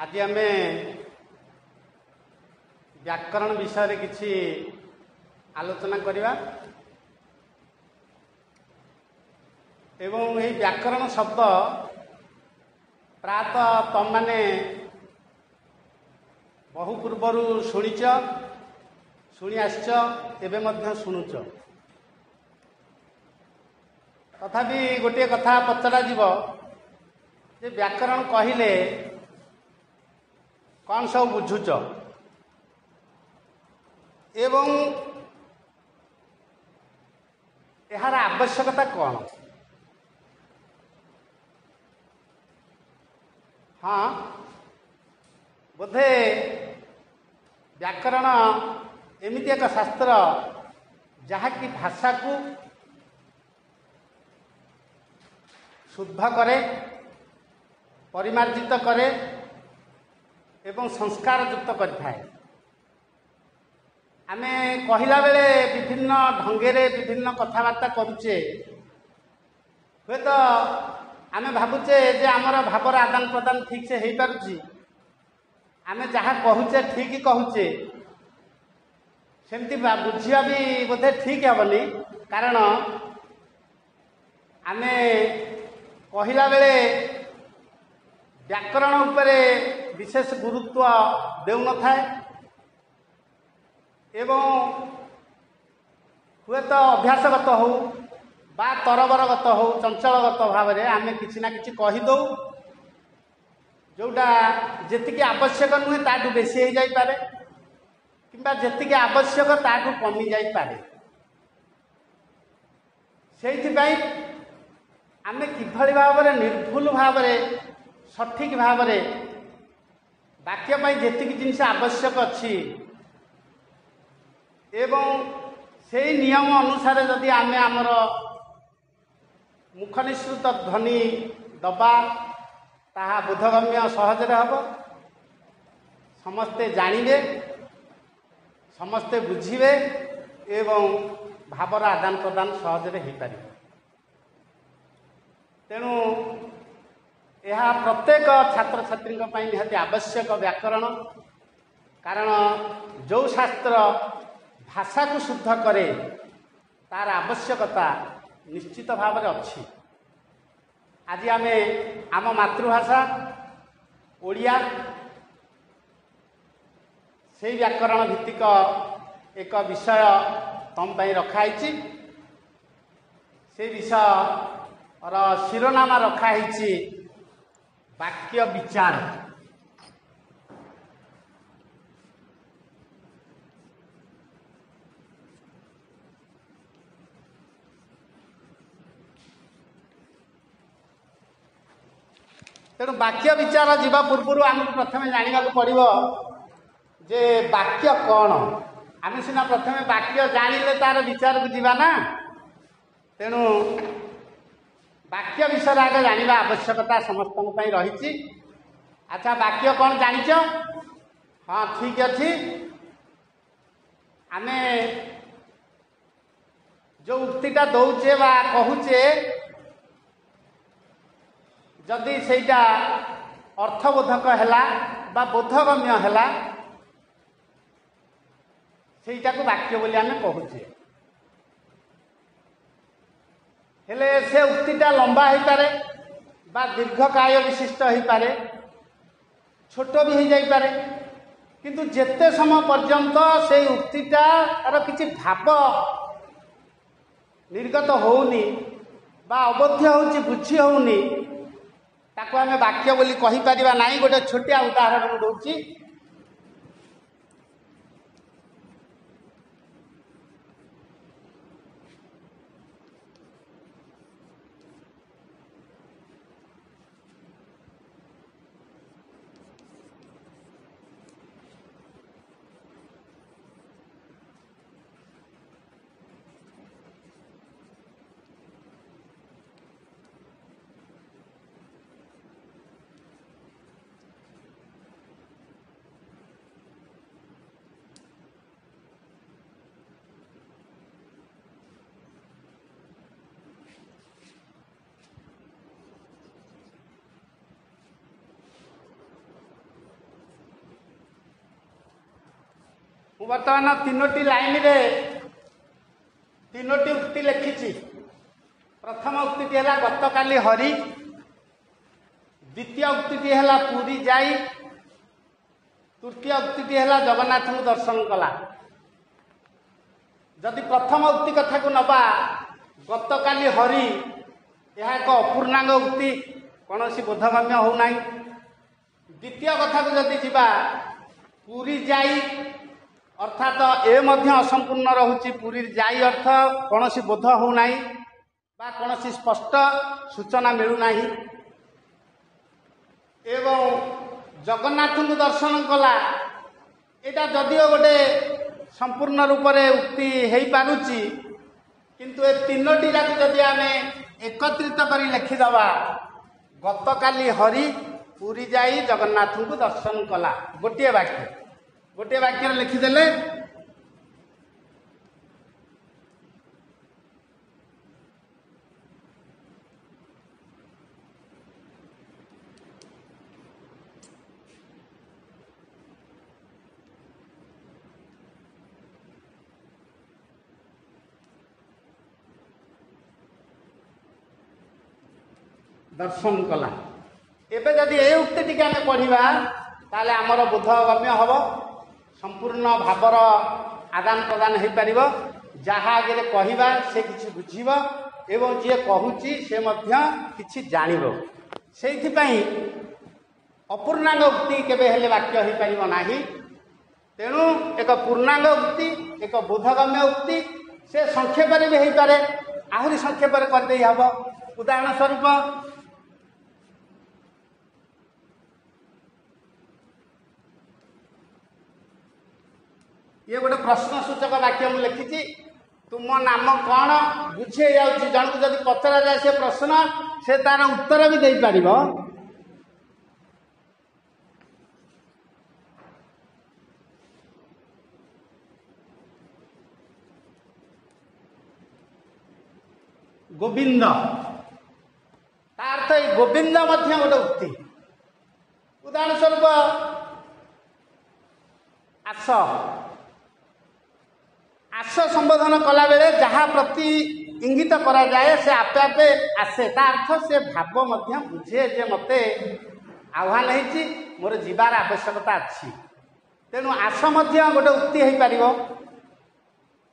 ଆଜି ଆମେ ବ୍ୟାକରଣ ବିଷୟରେ କିଛି ଆଲୋଚନା କରିବା ଏବଂ ଏହି ବ୍ୟାକରଣ ଶବ୍ଦ ପ୍ରାୟତଃ ତମମାନେ ବହୁ ପୂର୍ବରୁ ଶୁଣିଛ, ଶୁଣି ଆସିଛ, ଏବେ ମଧ୍ୟ ଶୁଣୁଛ। ତଥାପି ଗୋଟିଏ କଥା ପଚରାଯିବ ଯେ ବ୍ୟାକରଣ କହିଲେ କ'ଣ ସବୁ ବୁଝୁଛ ଏବଂ ଏହାର ଆବଶ୍ୟକତା କ'ଣ? ହଁ, ବୋଧେ ବ୍ୟାକରଣ ଏମିତି ଏକ ଶାସ୍ତ୍ର ଯାହାକି ଭାଷାକୁ ଶୁଦ୍ଧ କରେ, ପରିମାର୍ଜିତ କରେ ଏବଂ ସଂସ୍କାରଯୁକ୍ତ କରିଥାଏ। ଆମେ କହିଲା ବେଳେ ବିଭିନ୍ନ ଢଙ୍ଗରେ ବିଭିନ୍ନ କଥାବାର୍ତ୍ତା କରୁଛେ। ହୁଏତ ଆମେ ଭାବୁଛେ ଯେ ଆମର ଭାବର ଆଦାନ ପ୍ରଦାନ ଠିକ୍ସେ ହେଇପାରୁଛି, ଆମେ ଯାହା କହୁଛେ ଠିକ୍ କହୁଛେ, ସେମିତି ବୁଝିବା ବି ବୋଧେ ଠିକ୍ ହେବନି। କାରଣ ଆମେ କହିଲା ବେଳେ ବ୍ୟାକରଣ ଉପରେ ବିଶେଷ ଗୁରୁତ୍ୱ ଦେଉନଥାଏ ଏବଂ ହୁଏତ ଅଭ୍ୟାସଗତ ହେଉ ବା ତରବରଗତ ହେଉ, ଚଞ୍ଚଳଗତ ଭାବରେ ଆମେ କିଛି ନା କିଛି କହିଦେଉ, ଯେଉଁଟା ଯେତିକି ଆବଶ୍ୟକ ନୁହେଁ ତାଠୁ ବେଶୀ ହେଇଯାଇପାରେ କିମ୍ବା ଯେତିକି ଆବଶ୍ୟକ ତାଠୁ କମି ଯାଇପାରେ। ସେଇଥିପାଇଁ ଆମେ କିଭଳି ଭାବରେ ନିର୍ଭୁଲ ଭାବରେ ସଠିକ୍ ଭାବରେ ବାକ୍ୟ ପାଇଁ ଯେତିକି ଜିନିଷ ଆବଶ୍ୟକ ଅଛି ଏବଂ ସେଇ ନିୟମ ଅନୁସାରେ ଯଦି ଆମେ ଆମର ମୁଖ ନିଃସୃତ ଧ୍ୱନି ଦେବା, ତାହା ବୋଧଗମ୍ୟ ସହଜରେ ହେବ, ସମସ୍ତେ ଜାଣିବେ, ସମସ୍ତେ ବୁଝିବେ ଏବଂ ଭାବର ଆଦାନ ପ୍ରଦାନ ସହଜରେ ହୋଇପାରିବ। ତେଣୁ ଏହା ପ୍ରତ୍ୟେକ ଛାତ୍ରଛାତ୍ରୀଙ୍କ ପାଇଁ ନିହାତି ଆବଶ୍ୟକ ବ୍ୟାକରଣ। କାରଣ ଯେଉଁ ଶାସ୍ତ୍ର ଭାଷାକୁ ଶୁଦ୍ଧ କରେ ତାର ଆବଶ୍ୟକତା ନିଶ୍ଚିତ ଭାବରେ ଅଛି। ଆଜି ଆମେ ଆମ ମାତୃଭାଷା ଓଡ଼ିଆ, ସେଇ ବ୍ୟାକରଣ ଭିତ୍ତିକ ଏକ ବିଷୟ ତମ ପାଇଁ ରଖାହେଇଛି। ସେଇ ବିଷୟର ଶିରୋନାମା ରଖାହେଇଛି ବାକ୍ୟ ବିଚାର। ତେଣୁ ବାକ୍ୟ ବିଚାର ଯିବା ପୂର୍ବରୁ ଆମକୁ ପ୍ରଥମେ ଜାଣିବାକୁ ପଡ଼ିବ ଯେ ବାକ୍ୟ କ'ଣ। ଆମେ ସିନା ପ୍ରଥମେ ବାକ୍ୟ ଜାଣିଲେ ତାର ବିଚାରକୁ ଯିବା ନା। ତେଣୁ ବାକ୍ୟ ବିଷୟରେ ଆଗ ଜାଣିବା ଆବଶ୍ୟକତା ସମସ୍ତଙ୍କ ପାଇଁ ରହିଛି। ଆଚ୍ଛା, ବାକ୍ୟ କ'ଣ ଜାଣିଛ? ହଁ, ଠିକ୍ ଅଛି। ଆମେ ଯେଉଁ ଉକ୍ତିଟା ଦଉଛେ ବା କହୁଛେ, ଯଦି ସେଇଟା ଅର୍ଥବୋଧକ ହେଲା ବା ବୋଧଗମ୍ୟ ହେଲା, ସେଇଟାକୁ ବାକ୍ୟ ବୋଲି ଆମେ କହୁଛେ। ହେଲେ ସେ ଉକ୍ତିଟା ଲମ୍ବା ହେଇପାରେ ବା ଦୀର୍ଘକାୟ ବିଶିଷ୍ଟ ହେଇପାରେ, ଛୋଟ ବି ହେଇଯାଇପାରେ, କିନ୍ତୁ ଯେତେ ସମୟ ପର୍ଯ୍ୟନ୍ତ ସେଇ ଉକ୍ତିଟାର କିଛି ଭାବ ନିର୍ଗତ ହେଉନି ବା ଅବୋଧ୍ୟ ହେଉଛି, ବୁଝି ହେଉନି, ତାକୁ ଆମେ ବାକ୍ୟ ବୋଲି କହିପାରିବା ନାହିଁ। ଗୋଟେ ଛୋଟିଆ ଉଦାହରଣ ମୁଁ ଦେଉଛି। ମୁଁ ବର୍ତ୍ତମାନ ତିନୋଟି ଲାଇନରେ ତିନୋଟି ଉକ୍ତି ଲେଖିଛି। ପ୍ରଥମ ଉକ୍ତିଟି ହେଲା ଗତକାଲି ହରି, ଦ୍ୱିତୀୟ ଉକ୍ତିଟି ହେଲା ପୁରୀ ଯାଇ, ତୃତୀୟ ଉକ୍ତିଟି ହେଲା ଜଗନ୍ନାଥଙ୍କୁ ଦର୍ଶନ କଲା। ଯଦି ପ୍ରଥମ ଉକ୍ତି କଥାକୁ ନେବା, ଗତକାଲି ହରି, ଏହା ଏକ ଅପୂର୍ଣ୍ଣାଙ୍ଗ ଉକ୍ତି, କୌଣସି ବୋଧଗମ୍ୟ ହେଉନାହିଁ। ଦ୍ୱିତୀୟ କଥାକୁ ଯଦି ଯିବା, ପୁରୀ ଯାଇ, ଅର୍ଥାତ ଏ ମଧ୍ୟ ଅସମ୍ପୂର୍ଣ୍ଣ ରହୁଛି। ପୁରୀ ଯାଇ ଅର୍ଥ କୌଣସି ବୋଧ ହେଉନାହିଁ ବା କୌଣସି ସ୍ପଷ୍ଟ ସୂଚନା ମିଳୁନାହିଁ। ଏବଂ ଜଗନ୍ନାଥଙ୍କୁ ଦର୍ଶନ କଲା, ଏଇଟା ଯଦିଓ ଗୋଟେ ସମ୍ପୂର୍ଣ୍ଣ ରୂପରେ ଉକ୍ତି ହେଇପାରୁଛି, କିନ୍ତୁ ଏ ତିନୋଟି ଯାକ ଯଦି ଆମେ ଏକତ୍ରିତ କରି ଲେଖିଦେବା, ଗତକାଲି ହରି ପୁରୀ ଯାଇ ଜଗନ୍ନାଥଙ୍କୁ ଦର୍ଶନ କଲା, ଗୋଟିଏ ବାକ୍ୟ, ଗୋଟିଏ ବାକ୍ୟରେ ଲେଖିଦେଲେ ଦର୍ଶନ କଲା। ଏବେ ଯଦି ଏ ଉକ୍ତିଟିକି ଆମେ ପଢ଼ିବା, ତାହେଲେ ଆମର ବୋଧଗମ୍ୟ ହେବ, ସମ୍ପୂର୍ଣ୍ଣ ଭାବର ଆଦାନ ପ୍ରଦାନ ହୋଇପାରିବ। ଯାହା ଆଗରେ କହିବା ସେ କିଛି ବୁଝିବ ଏବଂ ଯିଏ କହୁଛି ସେ ମଧ୍ୟ କିଛି ଜାଣିବ। ସେଇଥିପାଇଁ ଅପୂର୍ଣ୍ଣାଙ୍ଗ ଉକ୍ତି କେବେ ହେଲେ ବାକ୍ୟ ହୋଇପାରିବ ନାହିଁ। ତେଣୁ ଏକ ପୂର୍ଣ୍ଣାଙ୍ଗ ଉକ୍ତି, ଏକ ବୋଧଗମ୍ୟ ଉକ୍ତି, ସେ ସଂକ୍ଷେପରେ ବି ହେଇପାରେ, ଆହୁରି ସଂକ୍ଷେପରେ କରିଦେଇ ହେବ। ଉଦାହରଣ ସ୍ୱରୂପ, ଇଏ ଗୋଟେ ପ୍ରଶ୍ନ ସୂଚକ ବାକ୍ୟ ମୁଁ ଲେଖିଛି, ତୁମ ନାମ କ'ଣ? ବୁଝି ହେଇଯାଉଛି। ଜଣକୁ ଯଦି ପଚରାଯାଏ ସେ ପ୍ରଶ୍ନ, ସେ ତାର ଉତ୍ତର ବି ଦେଇପାରିବ। ଗୋବିନ୍ଦ, ତା ଅର୍ଥ ଏଇ ଗୋବିନ୍ଦ ମଧ୍ୟ ଗୋଟେ ଉକ୍ତି। ଉଦାହରଣ ସ୍ୱରୂପ, ଆସ, ଆସ ସମ୍ବୋଧନ କଲାବେଳେ ଯାହା ପ୍ରତି ଇଙ୍ଗିତ କରାଯାଏ ସେ ଆପେ ଆପେ ଆସେ। ତା ଅର୍ଥ ସେ ଭାବ ମଧ୍ୟ ବୁଝେ ଯେ ମୋତେ ଆହ୍ୱାନ ହେଇଛି, ମୋର ଯିବାର ଆବଶ୍ୟକତା ଅଛି। ତେଣୁ ଆସ ମଧ୍ୟ ଗୋଟେ ଉକ୍ତି ହେଇପାରିବ।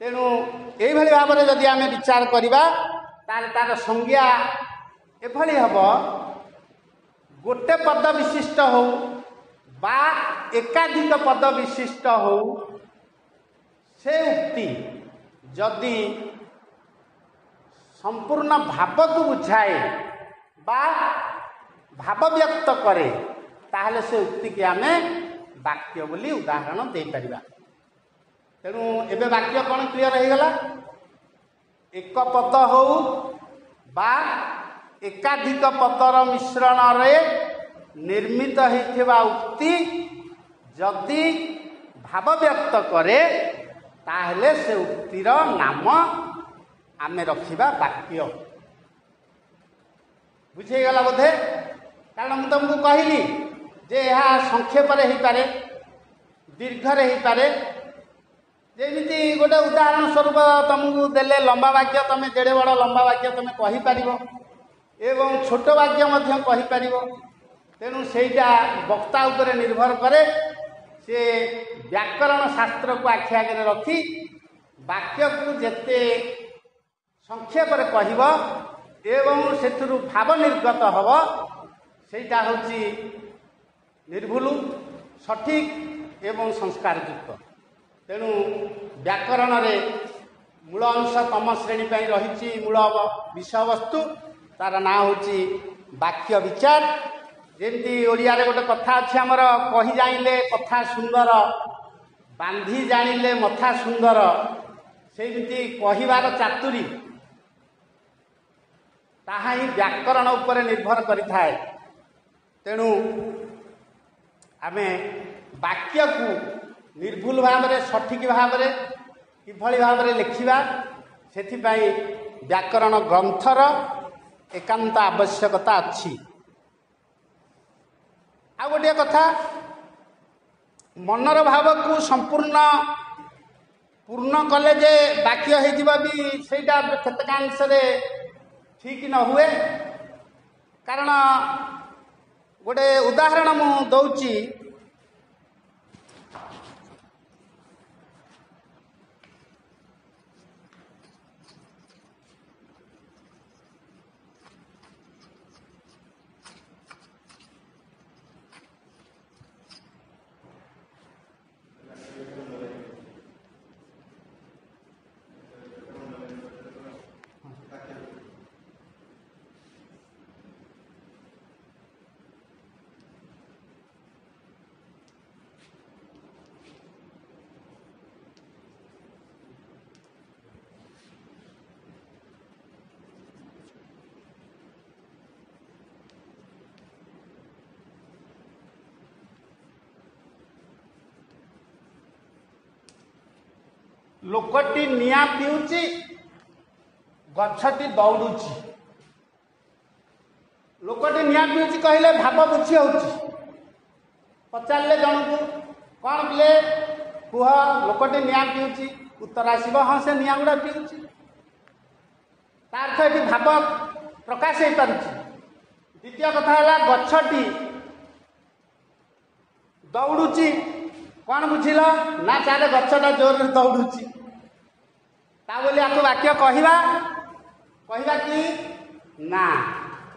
ତେଣୁ ଏଇଭଳି ଭାବରେ ଯଦି ଆମେ ବିଚାର କରିବା, ତାହେଲେ ତାର ସଂଜ୍ଞା ଏଭଳି ହେବ, ଗୋଟେ ପଦ ବିଶିଷ୍ଟ ହଉ ବା ଏକାଧିକ ପଦ ବିଶିଷ୍ଟ ହଉ, ସେ ଉକ୍ତି ଯଦି ସମ୍ପୂର୍ଣ୍ଣ ଭାବକୁ ବୁଝାଏ ବା ଭାବ ବ୍ୟକ୍ତ କରେ, ତାହେଲେ ସେ ଉକ୍ତିକି ଆମେ ବାକ୍ୟ ବୋଲି ଉଦାହରଣ ଦେଇପାରିବା। ତେଣୁ ଏବେ ବାକ୍ୟ କ'ଣ କ୍ଲିଅର ହେଇଗଲା? ଏକ ପଦ ହଉ ବା ଏକାଧିକ ପଦର ମିଶ୍ରଣରେ ନିର୍ମିତ ହେଇଥିବା ଉକ୍ତି ଯଦି ଭାବ ବ୍ୟକ୍ତ କରେ, ତାହେଲେ ସେ ଉକ୍ତିର ନାମ ଆମେ ରଖିବା ବାକ୍ୟ। ବୁଝିହେଇଗଲା ବୋଧେ? କାରଣ ମୁଁ ତୁମକୁ କହିଲି ଯେ ଏହା ସଂକ୍ଷେପରେ ହେଇପାରେ, ଦୀର୍ଘରେ ହେଇପାରେ। ଯେମିତି ଗୋଟେ ଉଦାହରଣ ସ୍ୱରୂପ ତୁମକୁ ଦେଲେ ଲମ୍ବା ବାକ୍ୟ, ତୁମେ ଯେଡ଼େ ବଡ଼ ଲମ୍ବା ବାକ୍ୟ ତୁମେ କହିପାରିବ ଏବଂ ଛୋଟ ବାକ୍ୟ ମଧ୍ୟ କହିପାରିବ। ତେଣୁ ସେଇଟା ବକ୍ତା ଉପରେ ନିର୍ଭର କରେ, ସେ ବ୍ୟାକରଣ ଶାସ୍ତ୍ରକୁ ଆଖି ଆଗରେ ରଖି ବାକ୍ୟକୁ ଯେତେ ସଂକ୍ଷେପରେ କହିବ ଏବଂ ସେଥିରୁ ଭାବ ନିର୍ଗତ ହେବ, ସେଇଟା ହେଉଛି ନିର୍ଭୁଲ, ସଠିକ ଏବଂ ସଂସ୍କାରଯୁକ୍ତ। ତେଣୁ ବ୍ୟାକରଣରେ ମୂଳ ଅଂଶ ତମ ଶ୍ରେଣୀ ପାଇଁ ରହିଛି ମୂଳ ବିଷୟବସ୍ତୁ, ତାର ନାଁ ହେଉଛି ବାକ୍ୟ ବିଚାର। ଯେମିତି ଓଡ଼ିଆରେ ଗୋଟେ କଥା ଅଛି ଆମର, କହି ଜାଣିଲେ କଥା ସୁନ୍ଦର, ବାନ୍ଧି ଜାଣିଲେ ମଥା ସୁନ୍ଦର, ସେମିତି କହିବାର ଚାତୁରୀ ତାହା ହିଁ ବ୍ୟାକରଣ ଉପରେ ନିର୍ଭର କରିଥାଏ। ତେଣୁ ଆମେ ବାକ୍ୟକୁ ନିର୍ଭୁଲ ଭାବରେ, ସଠିକ ଭାବରେ କିଭଳି ଭାବରେ ଲେଖିବା, ସେଥିପାଇଁ ବ୍ୟାକରଣ ଗ୍ରନ୍ଥର ଏକାନ୍ତ ଆବଶ୍ୟକତା ଅଛି। ଆଉ ଗୋଟିଏ କଥା, ମନର ଭାବକୁ ସମ୍ପୂର୍ଣ୍ଣ ପୂର୍ଣ୍ଣ କଲେ ଯେ ବାକ୍ୟ ହେଇଯିବ ବି ସେଇଟା କେତେକାଂଶରେ ଠିକ୍ ନ ହୁଏ। କାରଣ ଗୋଟେ ଉଦାହରଣ ମୁଁ ଦଉଛି। ଲୋକଟି ନିଆଁ ପିଉଛି, ଗଛଟି ଦୌଡୁଛି। ଲୋକଟି ନିଆଁ ପିଉଛି କହିଲେ ଭାବ ବୁଝି ହେଉଛି। ପଚାରିଲେ ଜଣକୁ, କ'ଣ ପିଲେ କୁହ, ଲୋକଟି ନିଆଁ ପିଉଛି? ଉତ୍ତର ଆସିବ, ହଁ ସେ ନିଆଁ ଗୁଡ଼ା ପିଉଛି। ତା ଅର୍ଥ ଏଠି ଭାବ ପ୍ରକାଶ ହେଇପାରୁଛି। ଦ୍ୱିତୀୟ କଥା ହେଲା ଗଛଟି ଦୌଡୁଛି। କ'ଣ ବୁଝିଲ? ନା ତାହେଲେ ଗଛଟା ଜୋରରେ ଦୌଡୁଛି। ତା ବୋଲି ଆକୁ ବାକ୍ୟ କହିବା କହିବା କି ନା?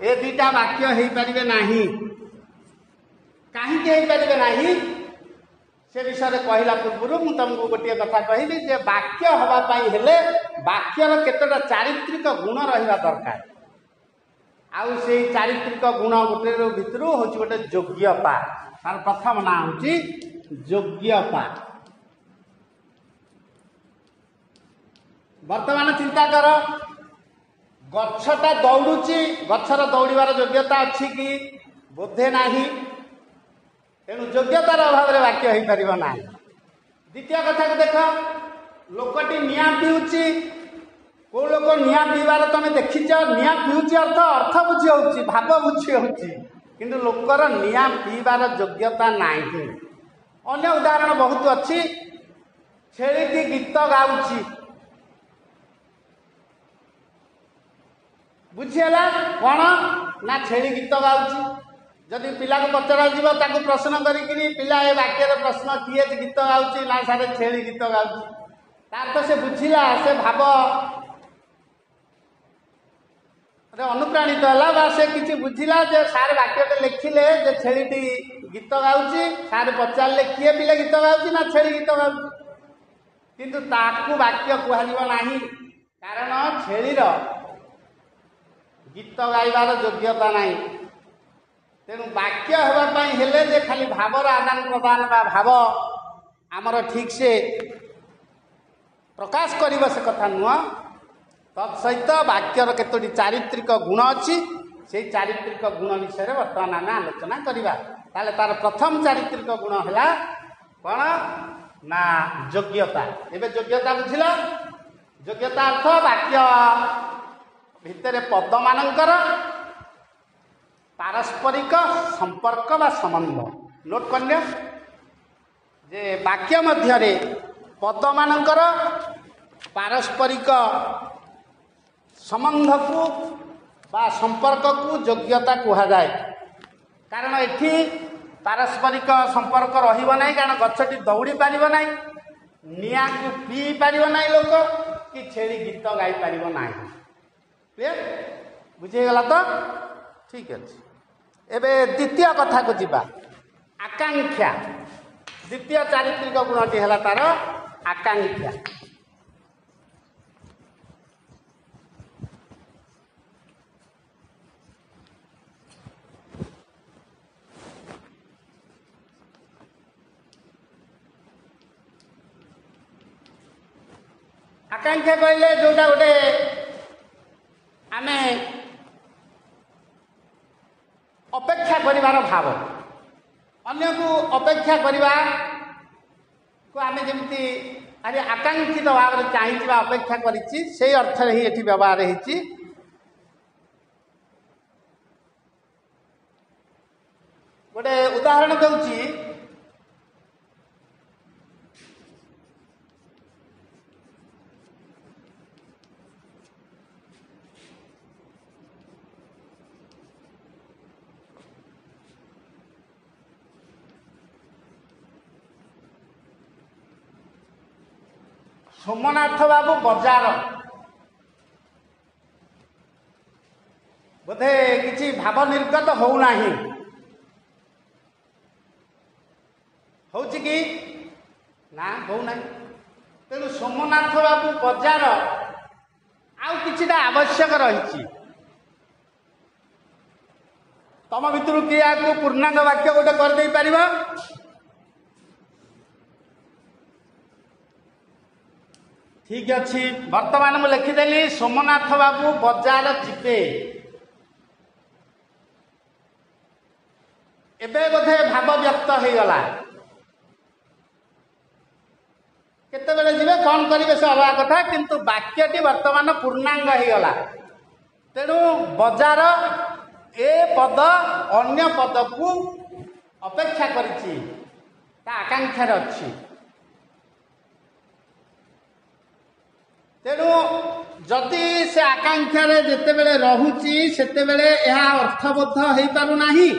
ଏ ଦୁଇଟା ବାକ୍ୟ ହେଇପାରିବେ ନାହିଁ। କାହିଁକି ହେଇପାରିବେ ନାହିଁ ସେ ବିଷୟରେ କହିଲା ପୂର୍ବରୁ ମୁଁ ତମକୁ ଗୋଟିଏ କଥା କହିବି ଯେ ବାକ୍ୟ ହେବା ପାଇଁ ହେଲେ ବାକ୍ୟର କେତେଟା ଚାରିତ୍ରିକ ଗୁଣ ରହିବା ଦରକାର। ଆଉ ସେଇ ଚାରିତ୍ରିକ ଗୁଣ ଗୋଟେ ଭିତରୁ ହେଉଛି ଗୋଟେ ଯୋଗ୍ୟତା। ତାର ପ୍ରଥମ ନାଁ ହେଉଛି ଯୋଗ୍ୟତା। ବର୍ତ୍ତମାନ ଚିନ୍ତା କର, ଗଛଟା ଦୌଡୁଛି, ଗଛର ଦୌଡ଼ିବାର ଯୋଗ୍ୟତା ଅଛି କି? ବୋଧେ ନାହିଁ। ତେଣୁ ଯୋଗ୍ୟତାର ଅଭାବରେ ବାକ୍ୟ ହେଇପାରିବ ନାହିଁ। ଦ୍ୱିତୀୟ କଥାକୁ ଦେଖ, ଲୋକଟି ନିଆଁ ପିଉଛି। କୋଉ ଲୋକ ନିଆଁ ପିଇବାର ତମେ ଦେଖିଛ? ନିଆଁ ପିଉଛି ଅର୍ଥ ଅର୍ଥ ବୁଝି ହଉଛି, ଭାବ ବୁଝି ହଉଛି, କିନ୍ତୁ ଲୋକର ନିଆଁ ପିଇବାର ଯୋଗ୍ୟତା ନାହିଁ। ଅନ୍ୟ ଉଦାହରଣ ବହୁତ ଅଛି। ଛେଳିଟି ଗୀତ ଗାଉଛି, ବୁଝିହେଲା କ'ଣ ନା ଛେଳି ଗୀତ ଗାଉଛି। ଯଦି ପିଲାକୁ ପଚରାଯିବ, ତାକୁ ପ୍ରଶ୍ନ କରିକିରି, ପିଲା ଏ ବାକ୍ୟର ପ୍ରଶ୍ନ, କିଏ ଗୀତ ଗାଉଛି? ନା ସାରେ ଛେଳି ଗୀତ ଗାଉଛି। ତାର ତ ସେ ବୁଝିଲା, ସେ ଭାବ ଅନୁପ୍ରାଣିତ ହେଲା ବା ସେ କିଛି ବୁଝିଲା ଯେ ସାର୍ ବାକ୍ୟଟେ ଲେଖିଲେ ଯେ ଛେଳିଟି ଗୀତ ଗାଉଛି। ସାର୍ ପଚାରିଲେ କିଏ ପିଲା ଗୀତ ଗାଉଛି? ନା ଛେଳି ଗୀତ ଗାଉଛି। କିନ୍ତୁ ତାକୁ ବାକ୍ୟ କୁହାଯିବ ନାହିଁ, କାରଣ ଛେଳିର ଗୀତ ଗାଇବାର ଯୋଗ୍ୟତା ନାହିଁ। ତେଣୁ ବାକ୍ୟ ହେବା ପାଇଁ ହେଲେ ଯେ ଖାଲି ଭାବର ଆଦାନ ପ୍ରଦାନ ବା ଭାବ ଆମର ଠିକ୍ ସେ ପ୍ରକାଶ କରିବ ସେ କଥା ନୁହଁ। ତତ୍ ସହିତ ବାକ୍ୟର କେତୋଟି ଚାରିତ୍ରିକ ଗୁଣ ଅଛି, ସେଇ ଚାରିତ୍ରିକ ଗୁଣ ବିଷୟରେ ବର୍ତ୍ତମାନ ଆମେ ଆଲୋଚନା କରିବା। ତାହେଲେ ତାର ପ୍ରଥମ ଚାରିତ୍ରିକ ଗୁଣ ହେଲା କ'ଣ ନା ଯୋଗ୍ୟତା। ଏବେ ଯୋଗ୍ୟତା ବୁଝିଲ? ଯୋଗ୍ୟତା ଅର୍ଥ ବାକ୍ୟ ଭିତରେ ପଦମାନଙ୍କର ପାରସ୍ପରିକ ସମ୍ପର୍କ ବା ସମ୍ବନ୍ଧ। ନୋଟ୍ କରିନିଅ ଯେ ବାକ୍ୟ ମଧ୍ୟରେ ପଦମାନଙ୍କର ପାରସ୍ପରିକ ସମ୍ବନ୍ଧକୁ ବା ସମ୍ପର୍କକୁ ଯୋଗ୍ୟତା କୁହାଯାଏ। କାରଣ ଏଠି ପାରସ୍ପରିକ ସମ୍ପର୍କ ରହିବ ନାହିଁ, କାରଣ ଗଛଟି ଦୌଡ଼ି ପାରିବ ନାହିଁ, ନିଆଁକୁ ପିଇ ପାରିବ ନାହିଁ ଲୋକ, କି ଛେଳି ଗୀତ ଗାଇପାରିବ ନାହିଁ। କ୍ଲିୟର? ବୁଝିହେଇଗଲା ତ? ଠିକ ଅଛି। ଏବେ ଦ୍ୱିତୀୟ କଥାକୁ ଯିବା, ଆକାଂକ୍ଷା। ଦ୍ୱିତୀୟ ଚାରିତ୍ରିକ ଗୁଣଟି ହେଲା ତାର ଆକାଂକ୍ଷା। ଆକାଂକ୍ଷା କହିଲେ ଯୋଉଟା ଗୋଟେ ଆମେ ଅପେକ୍ଷା କରିବାର ଭାବ, ଅନ୍ୟକୁ ଅପେକ୍ଷା କରିବାକୁ ଆମେ ଯେମିତି ଆଜି ଆକାଂକ୍ଷିତ ଭାବରେ ଚାହିଁଛି ବା ଅପେକ୍ଷା କରିଛି, ସେଇ ଅର୍ଥରେ ହିଁ ଏଠି ବ୍ୟବହାର ହେଇଛି। ଗୋଟେ ଉଦାହରଣ ଦେଉଛି। ସୋମନାଥ ବାବୁ ବଜାର, ବୋଧେ କିଛି ଭାବ ନିର୍ଗତ ହଉନାହିଁ। ହଉଛି କି ନା? ହଉନାହିଁ। ତେଣୁ ସୋମନାଥ ବାବୁ ବଜାର ଆଉ କିଛିଟା ଆବଶ୍ୟକ ରହିଛି। ତମ ଭିତରୁ କିଏ ଆକୁ ପୂର୍ଣ୍ଣାଙ୍ଗ ବାକ୍ୟ ଗୋଟେ କରିଦେଇ ପାରିବ? ଠିକ ଅଛି, ବର୍ତ୍ତମାନ ମୁଁ ଲେଖିଦେଲି ସୋମନାଥ ବାବୁ ବଜାର ଯିବେ। ଏବେ ବୋଧେ ଭାବ ବ୍ୟକ୍ତ ହେଇଗଲା। କେତେବେଳେ ଯିବେ, କ'ଣ କରିବେ ସେ ଅଲଗା କଥା, କିନ୍ତୁ ବାକ୍ୟଟି ବର୍ତ୍ତମାନ ପୂର୍ଣ୍ଣାଙ୍ଗ ହେଇଗଲା। ତେଣୁ ବଜାର ଏ ପଦ ଅନ୍ୟ ପଦକୁ ଅପେକ୍ଷା କରିଛି, ତା ଆକାଂକ୍ଷାରେ ଅଛି। ତେଣୁ ଯଦି ସେ ଆକାଂକ୍ଷାରେ ଯେତେବେଳେ ରହୁଛି, ସେତେବେଳେ ଏହା ଅର୍ଥବୋଧ ହେଇପାରୁନାହିଁ।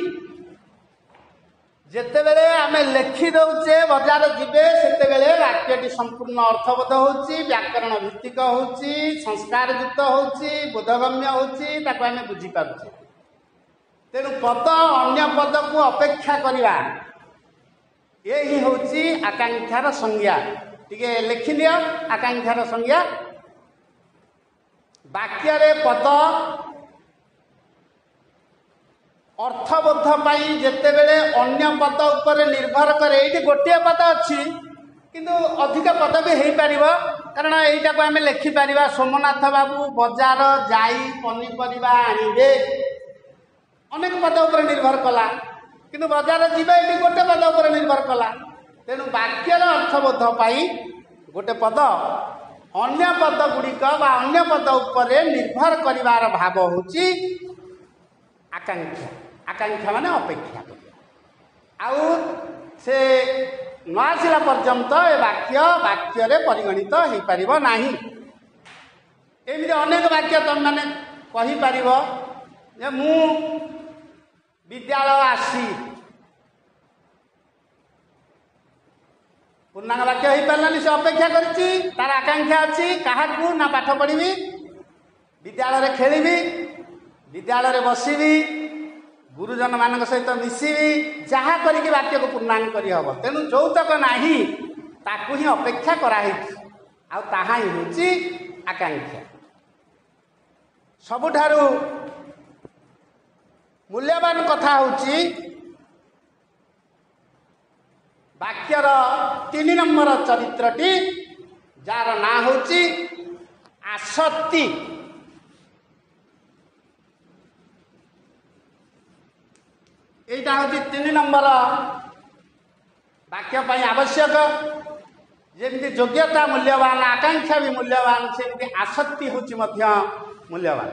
ଯେତେବେଳେ ଆମେ ଲେଖି ଦଉଛେ ବଜାର ଯିବେ, ସେତେବେଳେ ବାକ୍ୟଟି ସମ୍ପୂର୍ଣ୍ଣ ଅର୍ଥବୋଧ ହେଉଛି, ବ୍ୟାକରଣ ଭିତ୍ତିକ ହେଉଛି, ସଂସ୍କାରଯୁକ୍ତ ହେଉଛି, ବୋଧଗମ୍ୟ ହେଉଛି, ତାକୁ ଆମେ ବୁଝିପାରୁଛେ। ତେଣୁ ପଦ ଅନ୍ୟ ପଦକୁ ଅପେକ୍ଷା କରିବା, ଏ ହିଁ ହେଉଛି ଆକାଂକ୍ଷାର ସଂଜ୍ଞା। ଟିକେ ଲେଖିନିଅ ଆକାଂକ୍ଷାର ସଂଜ୍ଞା। ବାକ୍ୟରେ ପଦ ଅର୍ଥବୋଧ ପାଇଁ ଯେତେବେଳେ ଅନ୍ୟ ପଦ ଉପରେ ନିର୍ଭର କରେ। ଏଇଠି ଗୋଟିଏ ପଦ ଅଛି, କିନ୍ତୁ ଅଧିକ ପଦ ବି ହେଇପାରିବ, କାରଣ ଏଇଟାକୁ ଆମେ ଲେଖିପାରିବା ସୋମନାଥ ବାବୁ ବଜାର ଯାଇ ପନିପରିବା ଆଣିବେ। ଅନେକ ପଦ ଉପରେ ନିର୍ଭର କଲା, କିନ୍ତୁ ବଜାର ଯିବେ ଏଠି ଗୋଟେ ପଦ ଉପରେ ନିର୍ଭର କଲା। ତେଣୁ ବାକ୍ୟର ଅର୍ଥବୋଧ ପାଇଁ ଗୋଟେ ପଦ ଅନ୍ୟ ପଦ ଗୁଡ଼ିକ ବା ଅନ୍ୟ ପଦ ଉପରେ ନିର୍ଭର କରିବାର ଭାବ ହେଉଛି ଆକାଂକ୍ଷା। ଆକାଂକ୍ଷା ମାନେ ଅପେକ୍ଷା କରିବା, ଆଉ ସେ ନ ଆସିଲା ପର୍ଯ୍ୟନ୍ତ ଏ ବାକ୍ୟ ବାକ୍ୟରେ ପରିଗଣିତ ହେଇପାରିବ ନାହିଁ। ଏମିତି ଅନେକ ବାକ୍ୟ ତମେମାନେ କହିପାରିବ ଯେ ମୁଁ ବିଦ୍ୟାଳୟ ଆସି, ପୂର୍ଣ୍ଣାଙ୍ଗ ବାକ୍ୟ ହେଇପାରିଲାନି। ସେ ଅପେକ୍ଷା କରିଛି, ତାର ଆକାଂକ୍ଷା ଅଛି କାହାକୁ ନା ପାଠ ପଢ଼ିବି, ବିଦ୍ୟାଳୟରେ ଖେଳିବି, ବିଦ୍ୟାଳୟରେ ବସିବି, ଗୁରୁଜନମାନଙ୍କ ସହିତ ମିଶିବି, ଯାହା କରିକି ବାକ୍ୟକୁ ପୂର୍ଣ୍ଣାଙ୍ଗ କରିହେବ। ତେଣୁ ଯୌତକ ନାହିଁ, ତାକୁ ହିଁ ଅପେକ୍ଷା କରାହେଇଛି, ଆଉ ତାହା ହିଁ ହେଉଛି ଆକାଂକ୍ଷା। ସବୁଠାରୁ ମୂଲ୍ୟବାନ କଥା ହେଉଛି ବାକ୍ୟର 3 ନମ୍ବର ଚରିତ୍ରଟି, ଯାହାର ନାଁ ହେଉଛି ଆସକ୍ତି। ଏଇଟା ହେଉଛି 3 ନମ୍ବର ବାକ୍ୟ ପାଇଁ ଆବଶ୍ୟକ। ଯେମିତି ଯୋଗ୍ୟତା ମୂଲ୍ୟବାନ, ଆକାଂକ୍ଷା ବି ମୂଲ୍ୟବାନ, ସେମିତି ଆସକ୍ତି ହେଉଛି ମଧ୍ୟ ମୂଲ୍ୟବାନ।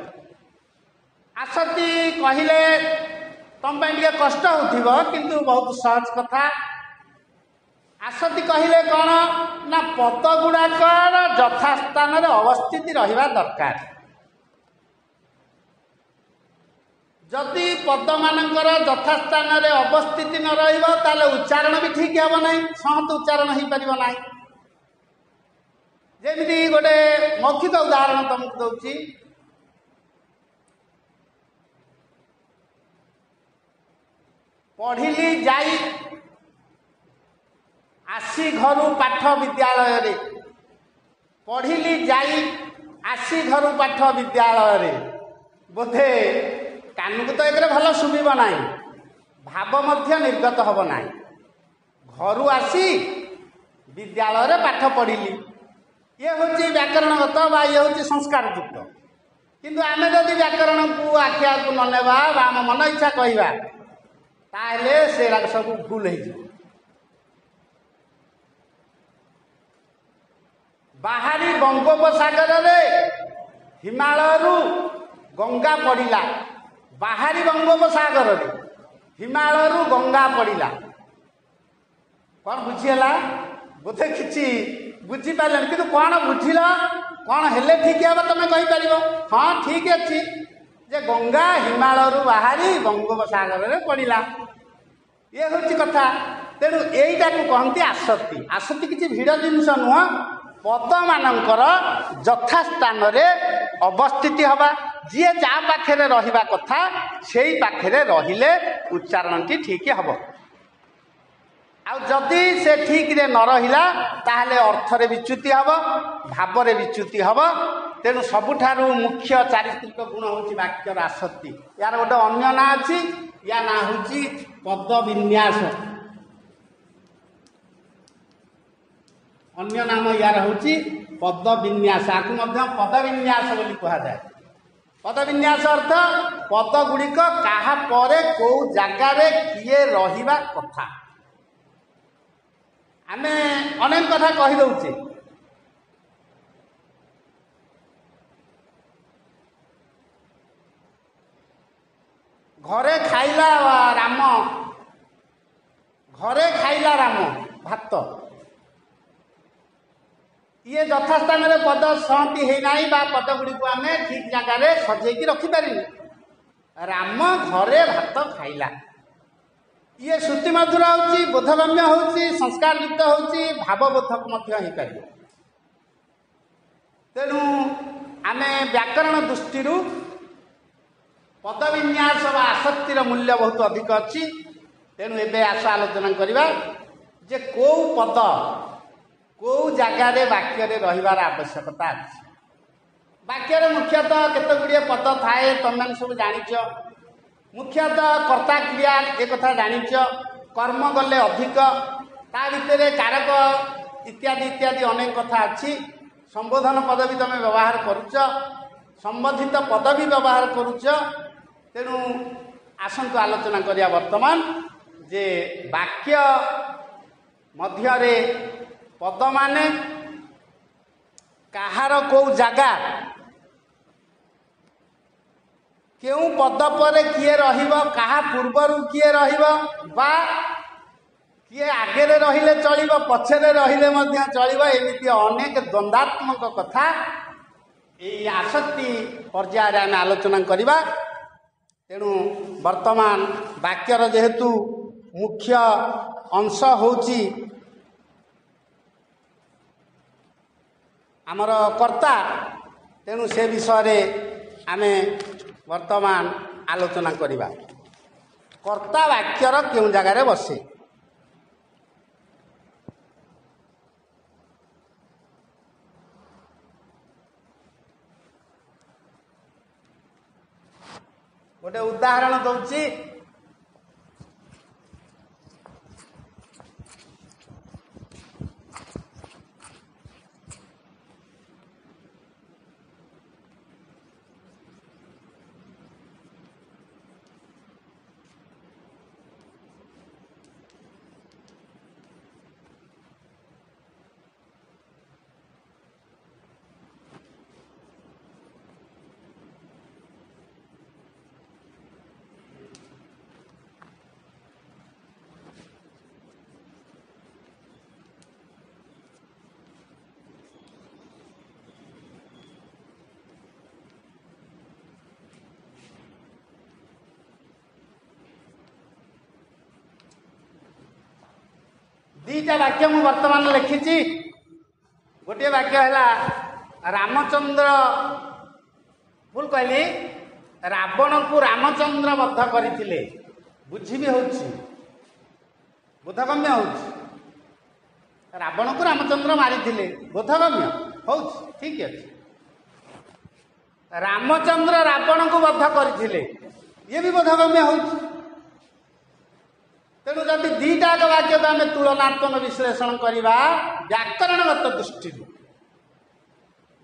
ଆସକ୍ତି କହିଲେ ତମ ପାଇଁ ଟିକେ କଷ୍ଟ ହେଉଥିବ, କିନ୍ତୁ ବହୁତ ସହଜ କଥା। ଆସକ୍ତି କହିଲେ କ'ଣ ନା ପଦ ଗୁଡ଼ାକର ଯଥାସ୍ଥାନରେ ଅବସ୍ଥିତି ରହିବା ଦରକାର। ଯଦି ପଦମାନଙ୍କର ଯଥାସ୍ଥାନରେ ଅବସ୍ଥିତି ନ ରହିବ, ତାହେଲେ ଉଚ୍ଚାରଣ ବି ଠିକ୍ ହେବ ନାହିଁ, ସଂହତ ଉଚ୍ଚାରଣ ହେଇପାରିବ ନାହିଁ। ଯେମିତି ଗୋଟେ ମୌଖିକ ଉଦାହରଣ ତମକୁ ଦଉଛି। ପଢ଼ିଲି ଯାଇ ଆସି ଘରୁ ପାଠ ବିଦ୍ୟାଳୟରେ। ପଢ଼ିଲି ଯାଇ ଆସି ଘରୁ ପାଠ ବିଦ୍ୟାଳୟରେ, ବୋଧେ କାନକୁ ତ ଏକରେ ଭଲ ଶୁଭିବ ନାହିଁ, ଭାବ ମଧ୍ୟ ନିର୍ଗତ ହେବ ନାହିଁ। ଘରୁ ଆସି ବିଦ୍ୟାଳୟରେ ପାଠ ପଢ଼ିଲି, ଇଏ ହେଉଛି ବ୍ୟାକରଣଗତ ବା ଇଏ ହେଉଛି ସଂସ୍କାରଯୁକ୍ତ। କିନ୍ତୁ ଆମେ ଯଦି ବ୍ୟାକରଣକୁ ଆଖି ଆଗକୁ ନ ନେବା ବା ଆମ ମନ ଇଚ୍ଛା କହିବା, ତାହେଲେ ସେଗୁଡ଼ାକ ସବୁ ଭୁଲ ହେଇଯିବ। ବାହାରି ବଙ୍ଗୋପସାଗରରେ ହିମାଳୟରୁ ଗଙ୍ଗା ପଡ଼ିଲା। ବାହାରି ବଙ୍ଗୋପସାଗରରେ ହିମାଳୟରୁ ଗଙ୍ଗା ପଡ଼ିଲା। କ'ଣ ବୁଝିହେଲା? ବୋଧେ କିଛି ବୁଝିପାରିଲେନି, କିନ୍ତୁ କ'ଣ ବୁଝିଲ, କ'ଣ ହେଲେ ଠିକ୍ ହେବ ତମେ କହିପାରିବ? ହଁ, ଠିକ୍ ଅଛି ଯେ ଗଙ୍ଗା ହିମାଳୟରୁ ବାହାରି ବଙ୍ଗୋପସାଗରରେ ପଡ଼ିଲା, ଇଏ ହେଉଛି କଥା। ତେଣୁ ଏଇଟାକୁ କହନ୍ତି ଆସକ୍ତି। ଆସକ୍ତି କିଛି ଭିଡ଼ ଜିନିଷ ନୁହଁ। ପଦମାନଙ୍କର ଯଥାସ୍ଥାନରେ ଅବସ୍ଥିତି ହେବା। ଯିଏ ଯାହା ପାଖରେ ରହିବା କଥା ସେଇ ପାଖରେ ରହିଲେ ଉଚ୍ଚାରଣଟି ଠିକ୍ ହେବ। ଆଉ ଯଦି ସେ ଠିକ୍ରେ ନ ରହିଲା ତାହେଲେ ଅର୍ଥରେ ବିଚ୍ୟୁତି ହେବ, ଭାବରେ ବିଚ୍ୟୁତି ହେବ। ତେଣୁ ସବୁଠାରୁ ମୁଖ୍ୟ ଚାରିତ୍ରିକ ଗୁଣ ହେଉଛି ବାକ୍ୟର ଆସକ୍ତି। ୟାର ଗୋଟେ ଅନ୍ୟ ନାଁ ଅଛି, ୟା ନାଁ ହେଉଛି ପଦବିନ୍ୟାସ। ଅନ୍ୟ ନାମ ୟାର ହେଉଛି ପଦବିନ୍ୟାସ। ଆକୁ ମଧ୍ୟ ପଦବିନ୍ୟାସ ବୋଲି କୁହାଯାଏ। ପଦବିନ୍ୟାସ ଅର୍ଥ ପଦ ଗୁଡ଼ିକ କାହା ପରେ କେଉଁ ଜାଗାରେ କିଏ ରହିବା କଥା। ଆମେ ଅନେକ କଥା କହିଦେଉଛେ, ଘରେ ଖାଇଲା ରାମ, ଘରେ ଖାଇଲା ରାମ ଭାତ, ଇଏ ଯଥାସ୍ଥାନରେ ପଦ ସହନ୍ତି ହେଇନାହିଁ ବା ପଦ ଗୁଡ଼ିକୁ ଆମେ ଠିକ ଜାଗାରେ ସଜେଇକି ରଖିପାରିନୁ। ରାମ ଘରେ ଭାତ ଖାଇଲା, ଇଏ ଶ୍ରୁତିମଧୁର ହେଉଛି, ବୋଧଗମ୍ୟ ହେଉଛି, ସଂସ୍କାରଯୁକ୍ତ ହେଉଛି, ଭାବବୋଧକ ମଧ୍ୟ ହେଇପାରିବ। ତେଣୁ ଆମେ ବ୍ୟାକରଣ ଦୃଷ୍ଟିରୁ ପଦବିନ୍ୟାସ ବା ଆସକ୍ତିର ମୂଲ୍ୟ ବହୁତ ଅଧିକ ଅଛି। ତେଣୁ ଏବେ ଆସ ଆଲୋଚନା କରିବା ଯେ କେଉଁ ପଦ କେଉଁ ଜାଗାରେ ବାକ୍ୟରେ ରହିବାର ଆବଶ୍ୟକତା ଅଛି। ବାକ୍ୟରେ ମୁଖ୍ୟତଃ କେତେ ଗୁଡ଼ିଏ ପଦ ଥାଏ, ତମେମାନେ ସବୁ ଜାଣିଛ। ମୁଖ୍ୟତଃ କର୍ତ୍ତା କ୍ରିୟା ଏ କଥା ଜାଣିଛ, କର୍ମ ଗଲେ ଅଧିକ, ତା ଭିତରେ କାରକ ଇତ୍ୟାଦି ଇତ୍ୟାଦି ଅନେକ କଥା ଅଛି। ସମ୍ବୋଧନ ପଦ ବି ତମେ ବ୍ୟବହାର କରୁଛ, ସମ୍ବନ୍ଧିତ ପଦ ବି ବ୍ୟବହାର କରୁଛ। ତେଣୁ ଆସନ୍ତୁ ଆଲୋଚନା କରିବା ବର୍ତ୍ତମାନ ଯେ ବାକ୍ୟ ମଧ୍ୟରେ ପଦମାନେ କାହାର କେଉଁ ଜାଗା, କେଉଁ ପଦ ପରେ କିଏ ରହିବ, କାହା ପୂର୍ବରୁ କିଏ ରହିବ, ବା କିଏ ଆଗରେ ରହିଲେ ଚଳିବ, ପଛରେ ରହିଲେ ମଧ୍ୟ ଚଳିବ, ଏମିତି ଅନେକ ଦ୍ୱନ୍ଦ୍ୱାତ୍ମକ କଥା ଏଇ ଆସକ୍ତି ପର୍ଯ୍ୟାୟରେ ଆମେ ଆଲୋଚନା କରିବା। ତେଣୁ ବର୍ତ୍ତମାନ ବାକ୍ୟର ଯେହେତୁ ମୁଖ୍ୟ ଅଂଶ ହେଉଛି ଆମର କର୍ତ୍ତା, ତେଣୁ ସେ ବିଷୟରେ ଆମେ ବର୍ତ୍ତମାନ ଆଲୋଚନା କରିବା। କର୍ତ୍ତା ବାକ୍ୟର କେଉଁ ଜାଗାରେ ବସେ? ଗୋଟେ ଉଦାହରଣ ଦଉଛି। ଦିଟା ବାକ୍ୟ ମୁଁ ବର୍ତ୍ତମାନ ଲେଖିଛି। ଗୋଟିଏ ବାକ୍ୟ ହେଲା ରାମଚନ୍ଦ୍ର, ଭୁଲ କହିଲି, ରାବଣକୁ ରାମଚନ୍ଦ୍ର ବଧ କରିଥିଲେ। ବୁଝି ବି ହେଉଛି, ବୋଧଗମ୍ୟ ହେଉଛି। ରାବଣକୁ ରାମଚନ୍ଦ୍ର ମାରିଥିଲେ, ବୋଧଗମ୍ୟ ହେଉଛି, ଠିକ ଅଛି। ରାମଚନ୍ଦ୍ର ରାବଣକୁ ବଧ କରିଥିଲେ, ଇଏ ବି ବୋଧଗମ୍ୟ ହେଉଛି। ତେଣୁ ଯଦି ଦିଟା ଯାକ ବାକ୍ୟକୁ ଆମେ ତୁଳନାତ୍ମକ ବିଶ୍ଳେଷଣ କରିବା ବ୍ୟାକରଣଗତ ଦୃଷ୍ଟିରୁ,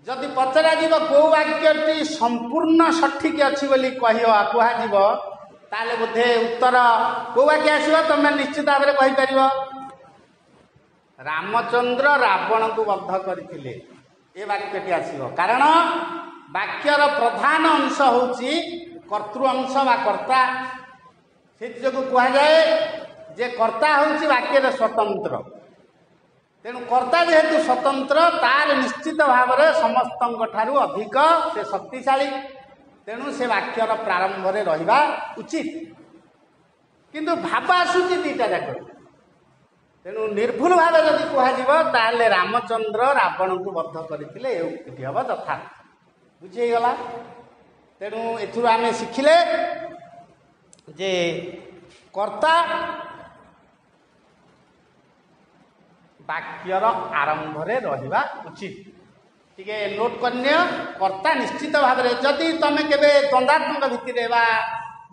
ଯଦି ପଚରାଯିବ କେଉଁ ବାକ୍ୟଟି ସମ୍ପୂର୍ଣ୍ଣ ସଠିକ ଅଛି ବୋଲି କୁହାଯିବ, ତାହେଲେ ବୋଧେ ଉତ୍ତର କେଉଁ ବାକ୍ୟ ଆସିବ ତମେ ନିଶ୍ଚିତ ଭାବରେ କହିପାରିବ, ରାମଚନ୍ଦ୍ର ରାବଣକୁ ବଧ କରିଥିଲେ, ଏ ବାକ୍ୟଟି ଆସିବ। କାରଣ ବାକ୍ୟର ପ୍ରଧାନ ଅଂଶ ହେଉଛି କର୍ତ୍ତୃ ଅଂଶ ବା କର୍ତ୍ତା। ସେଥିଯୋଗୁଁ କୁହାଯାଏ ଯେ କର୍ତ୍ତା ହେଉଛି ବାକ୍ୟରେ ସ୍ୱତନ୍ତ୍ର। ତେଣୁ କର୍ତ୍ତା ଯେହେତୁ ସ୍ୱତନ୍ତ୍ର, ତାର ନିଶ୍ଚିତ ଭାବରେ ସମସ୍ତଙ୍କ ଠାରୁ ଅଧିକ ସେ ଶକ୍ତିଶାଳୀ। ତେଣୁ ସେ ବାକ୍ୟର ପ୍ରାରମ୍ଭରେ ରହିବା ଉଚିତ। କିନ୍ତୁ ଭାବ ଆସୁଛି ଦିଟା ଯାକ। ତେଣୁ ନିର୍ଭୁଲ ଭାବେ ଯଦି କୁହାଯିବ ତାହେଲେ ରାମଚନ୍ଦ୍ର ରାବଣକୁ ବଧ କରିଥିଲେ, ଏ ଉକ୍ତିଟି ହେବ ଯଥାର୍ଥ। ବୁଝି ହେଇଗଲା? ତେଣୁ ଏଥିରୁ ଆମେ ଶିଖିଲେ ଯେ କର୍ତ୍ତା ବାକ୍ୟର ଆରମ୍ଭରେ ରହିବା ଉଚିତ। ଟିକେ ନୋଟ୍ କରିନିଅ, କର୍ତ୍ତା ନିଶ୍ଚିତ ଭାବରେ ଯଦି ତମେ କେବେ ଦ୍ୱନ୍ଦାତ୍ମକ ଭିତ୍ତିରେ ବା